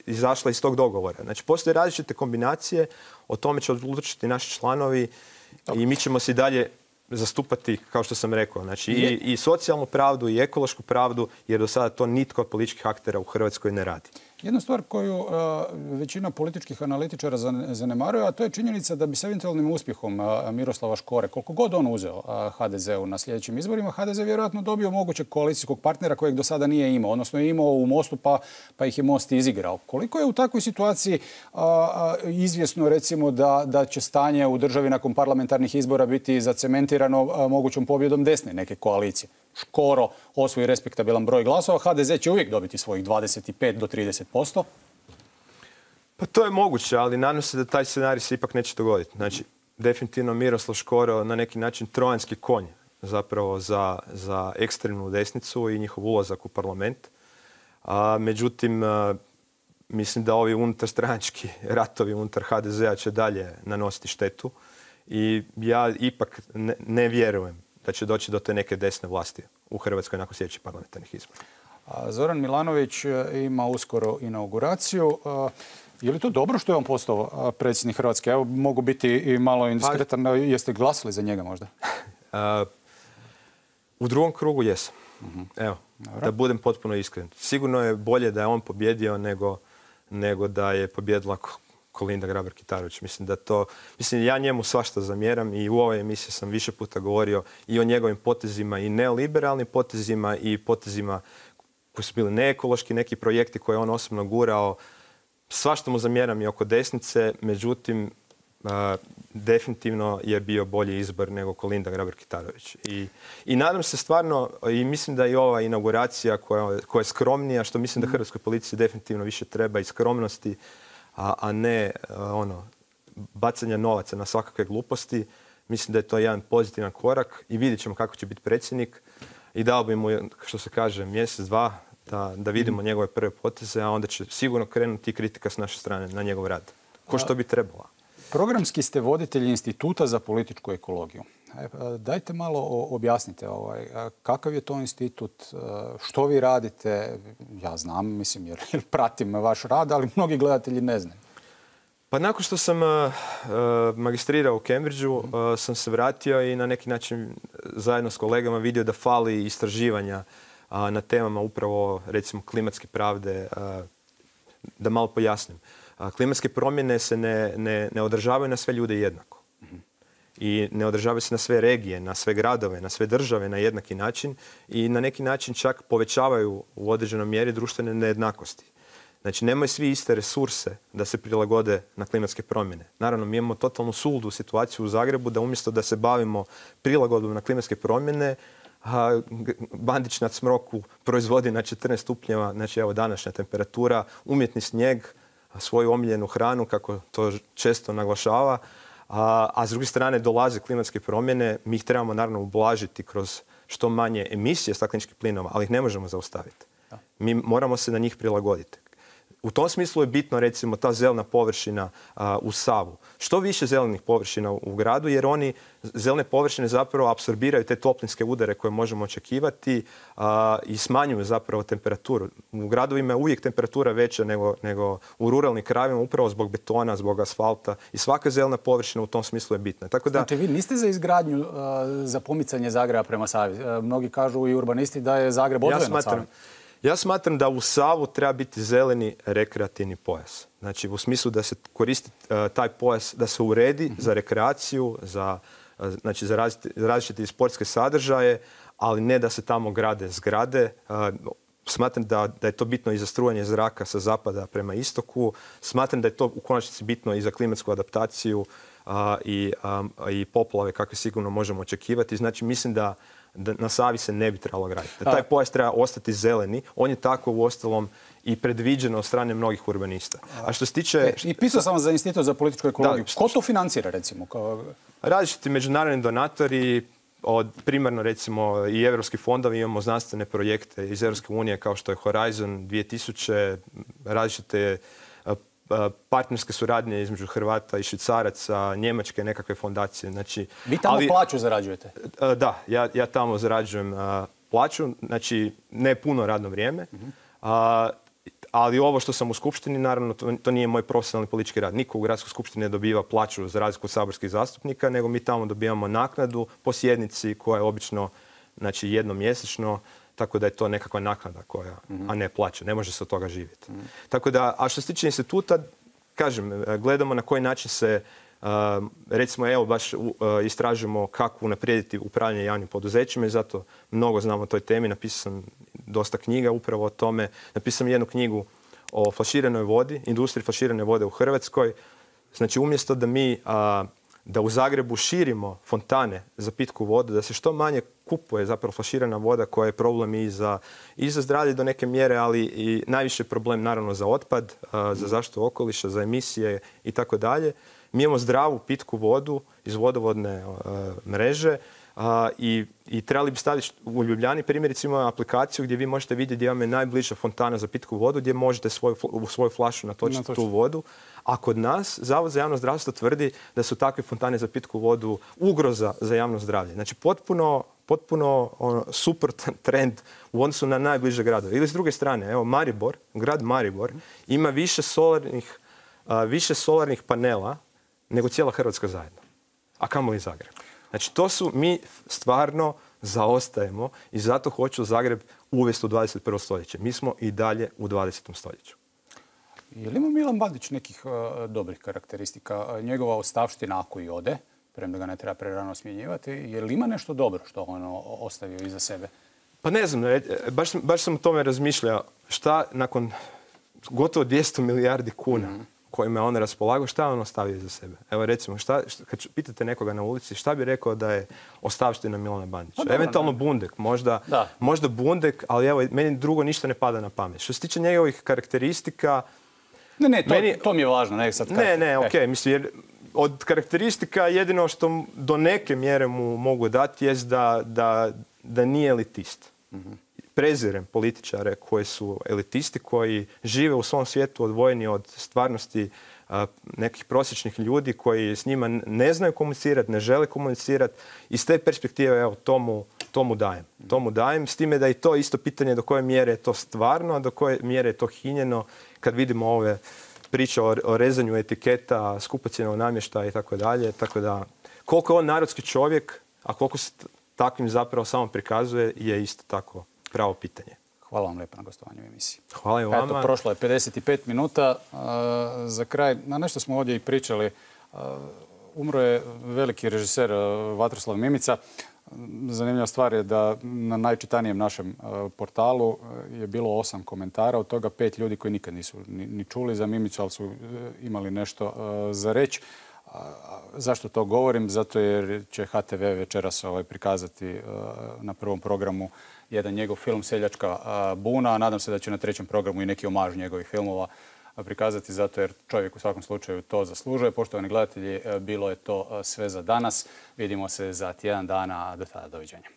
izašla iz tog dogovora. Znači, postoje različite kombinacije, o tome će odlučiti naši članovi i mi ćemo se i dalje zastupati, kao što sam rekao, znači i socijalnu pravdu i ekološku pravdu, jer do sada to nitko od političkih aktera u Hrvatskoj ne radi. Jedna stvar koju većina političkih analitičara zanemaruje, a to je činjenica da bi s eventualnim uspjehom Miroslava Škore, koliko god on uzeo HDZ-u na sljedećim izborima, HDZ vjerojatno dobio mogućeg koalicijskog partnera kojeg do sada nije imao. Odnosno je imao u Mostu pa ih je Most izigrao. Koliko je u takvoj situaciji izvjesno recimo da će stanje u državi nakon parlamentarnih izbora biti zacementirano mogućom pobjedom desne neke koalicije? Škoro osvoji respektabilan broj glasova, HDZ će uvijek dobiti svojih 25 do 30%. Pa to je moguće, ali nadam se da taj scenarij se ipak neće dogoditi. Znači, definitivno Miroslav Škoro na neki način trojanski konj zapravo za ekstremnu desnicu i njihov ulazak u parlament. Međutim, mislim da ovi unutarstranački ratovi unutar HDZ-a će dalje nanositi štetu i ja ipak ne vjerujem da će doći do te neke desne vlasti u Hrvatskoj nakon sljedećih parlamentarnih izbora. Zoran Milanović ima uskoro inauguraciju. Je li to dobro što je on postao predsjednik Hrvatske? Evo, mogu biti i malo indiskretan. Jeste glasali za njega možda? U drugom krugu jesam. Evo, da budem potpuno iskren. Sigurno je bolje da je on pobjedio nego da je pobjedila Kolinda Grabar-Kitarović. Mislim, ja njemu svašta zamjeram i u ovoj emisiji sam više puta govorio i o njegovim potezima i neoliberalnim potezima i potezima koji su bili neekološki, neki projekti koje je on osobno gurao. Svašta mu zamjeram i oko desnice, međutim, definitivno je bio bolji izbor nego Kolinda Grabar-Kitarović. I nadam se stvarno, i mislim da i ova inauguracija koja je skromnija, što mislim da hrvatskoj policiji definitivno više treba i skromnosti, a ne bacanje novaca na svakakve gluposti. Mislim da je to jedan pozitivan korak i vidjet ćemo kako će biti predsjednik. I dao bi mu, što se kaže, mjesec, dva da vidimo njegove prve poteze, a onda će sigurno krenuti kritika s naše strane na njegov rad. Ko što bi trebalo. Programski ste voditelj Instituta za političku ekologiju. Dajte malo objasnite kakav je to institut, što vi radite. Ja znam, mislim, jer pratim vaš rad, ali mnogi gledatelji ne znaju. Pa nakon što sam magistrirao u Cambridgeu, sam se vratio i na neki način zajedno s kolegama vidio da fali istraživanja na temama upravo, recimo, klimatske pravde. Da malo pojasnim. Klimatske promjene se ne održavaju na sve ljude jednako. I ne održavaju se na sve regije, na sve gradove, na sve države na jednaki način i na neki način čak povećavaju u određenoj mjeri društvene nejednakosti. Znači, nemaju svi iste resurse da se prilagode na klimatske promjene. Naravno, mi imamo totalnu suludu situaciju u Zagrebu da umjesto da se bavimo prilagodbom na klimatske promjene, Bandić na Cmroku proizvodi na 14 stupnjeva, znači evo današnja temperatura, umjetni snijeg, svoju omiljenu hranu, kako to često naglašava, a s druge strane dolaze klimatske promjene, mi ih trebamo naravno ublažiti kroz što manje emisije stakleničkih plinova, ali ih ne možemo zaustaviti. Mi moramo se na njih prilagoditi. U tom smislu je bitno, recimo, ta zelena površina u Savu. Što više zelenih površina u gradu, jer zelene površine zapravo apsorbiraju te toplinske udare koje možemo očekivati i smanjuju zapravo temperaturu. U gradovima je uvijek temperatura veća nego u ruralnim krajevima, upravo zbog betona, zbog asfalta i svaka zelena površina u tom smislu je bitna. Tako da... Znači, vi niste za izgradnju, za pomicanje Zagreba prema Savi. Mnogi kažu i urbanisti da je Zagreb odvojen od Save. Ja smatram da u Savu treba biti zeleni rekreativni pojas. Znači, u smislu da se koristi taj pojas, da se uredi za rekreaciju, za različite sportske sadržaje, ali ne da se tamo grade zgrade. Smatram da je to bitno i za strujanje zraka sa zapada prema istoku. Smatram da je to u konačnici bitno i za klimatsku adaptaciju i poplave kakve sigurno možemo očekivati. Znači, mislim da na Savi se ne bi trebalo graditi. Da taj pojas treba ostati zeleni. On je tako uostalom i predviđeno od strane mnogih urbanista. A što se tiče... I pisao sam za Institut za političku ekologiju. Ko to financira, recimo? Različiti međunarodni donatori, primarno recimo i evropski fondovi, imamo znanstvene projekte iz Europske unije kao što je Horizon 2000, različite partnerske suradnje između Hrvata i Švicaraca, Njemačke nekakve fondacije. Znači, vi tamo plaću zarađujete? Da, ja tamo zarađujem plaću, znači ne puno radno vrijeme, ali ovo što sam u skupštini, naravno, to nije moj profesionalni politički rad. Niko u gradskoj skupštini ne dobiva plaću za razliku od saborskih zastupnika, nego mi tamo dobivamo naknadu po sjednici koja je obično, znači, jednom mjesečno, tako da je to nekakva naknada koja, a ne plaća. Ne može se od toga živjeti. Tako da, a što se tiče instituta, kažem, gledamo na koji način se, recimo, evo, baš istražujemo kako unaprijediti upravljanje javnim poduzećima i zato mnogo znam o toj temi. Napisao sam dosta knjiga upravo o tome. Napisao sam jednu knjigu o flaširanoj vodi, industriji flaširane vode u Hrvatskoj. Znači, umjesto da u Zagrebu širimo fontane za pitku vodu, da se što manje kupuje zapravo flaširana voda koja je problem i za zdravlje do neke mjere, ali i najviše problem naravno za otpad, za zaštitu okoliša, za emisije i tako dalje. Mi imamo zdravu pitku vodu iz vodovodne mreže i trebali bi staviti u Ljubljani primjerice imamo aplikaciju gdje vi možete vidjeti gdje vam je najbliža fontana za pitku vodu, gdje možete u svoju flašu natočiti tu vodu. A kod nas Zavod za javno zdravstvo tvrdi da su takve fontane za pitku vodu ugroza za javno zdravlje. Znači, potpuno suprotan trend u odnosu na najbliže gradove. Ili s druge strane, evo Maribor, grad Maribor, ima više solarnih panela nego cijela Hrvatska zajedno. A kamoli Zagreb. Znači, mi stvarno zaostajemo i zato hoću Zagreb uvesti u 21. stoljeće. Mi smo i dalje u 20. stoljeću. Je li ima Milan Bandić nekih dobrih karakteristika? Njegova ostavština ako i ode, premda ga ne treba prerano smjenjivati, je li ima nešto dobro što on ostavio iza sebe? Pa ne znam, baš sam o tome razmišljao. Šta nakon gotovo 200 milijardi kuna kojima je on raspolagao, šta on ostavio iza sebe? Evo recimo, kad pitate nekoga na ulici, šta bi rekao da je ostavština Milana Bandića? Eventualno Bundek, možda Bundek, ali evo, meni drugo ništa ne pada na pamet. Što se tiče njegovih karakteristika... To mi je važno, ne sad... okej, mislim, jer od karakteristika jedino što do neke mjere mu mogu dati jest da nije elitist. Prezirem političare koji su elitisti, koji žive u svom svijetu odvojeni od stvarnosti nekih prosječnih ljudi koji s njima ne znaju komunicirati, ne žele komunicirati. Iz te perspektive, evo, to mu dajem. S time da je to isto pitanje do koje mjere je to stvarno, a do koje mjere je to hinjeno kad vidimo ove priča o rezanju etiketa, skupocjenog namještaja i tako dalje. Tako da, koliko je on narodski čovjek, a koliko se takvim zapravo samo prikazuje, je isto tako pravo pitanje. Hvala vam lijepo na gostovanju u emisiji. Hvala i vama. Eto, prošlo je 55 minuta. Za kraj, na nešto smo ovdje i pričali. Umro je veliki režiser Vatroslav Mimica. Zanimljiva stvar je da na najčitanijem našem portalu je bilo 8 komentara, od toga 5 ljudi koji nikad nisu ni čuli za Mimicu, ali su imali nešto za reći. Zašto to govorim? Zato jer će HTV večeras prikazati na prvom programu jedan njegov film Seljačka buna, a nadam se da će na trećem programu i neki omaž njegovih filmova prikazati, zato jer čovjek u svakom slučaju to zaslužuje. Poštovani gledatelji, bilo je to sve za danas. Vidimo se za tjedan dana. Do tada, doviđenja.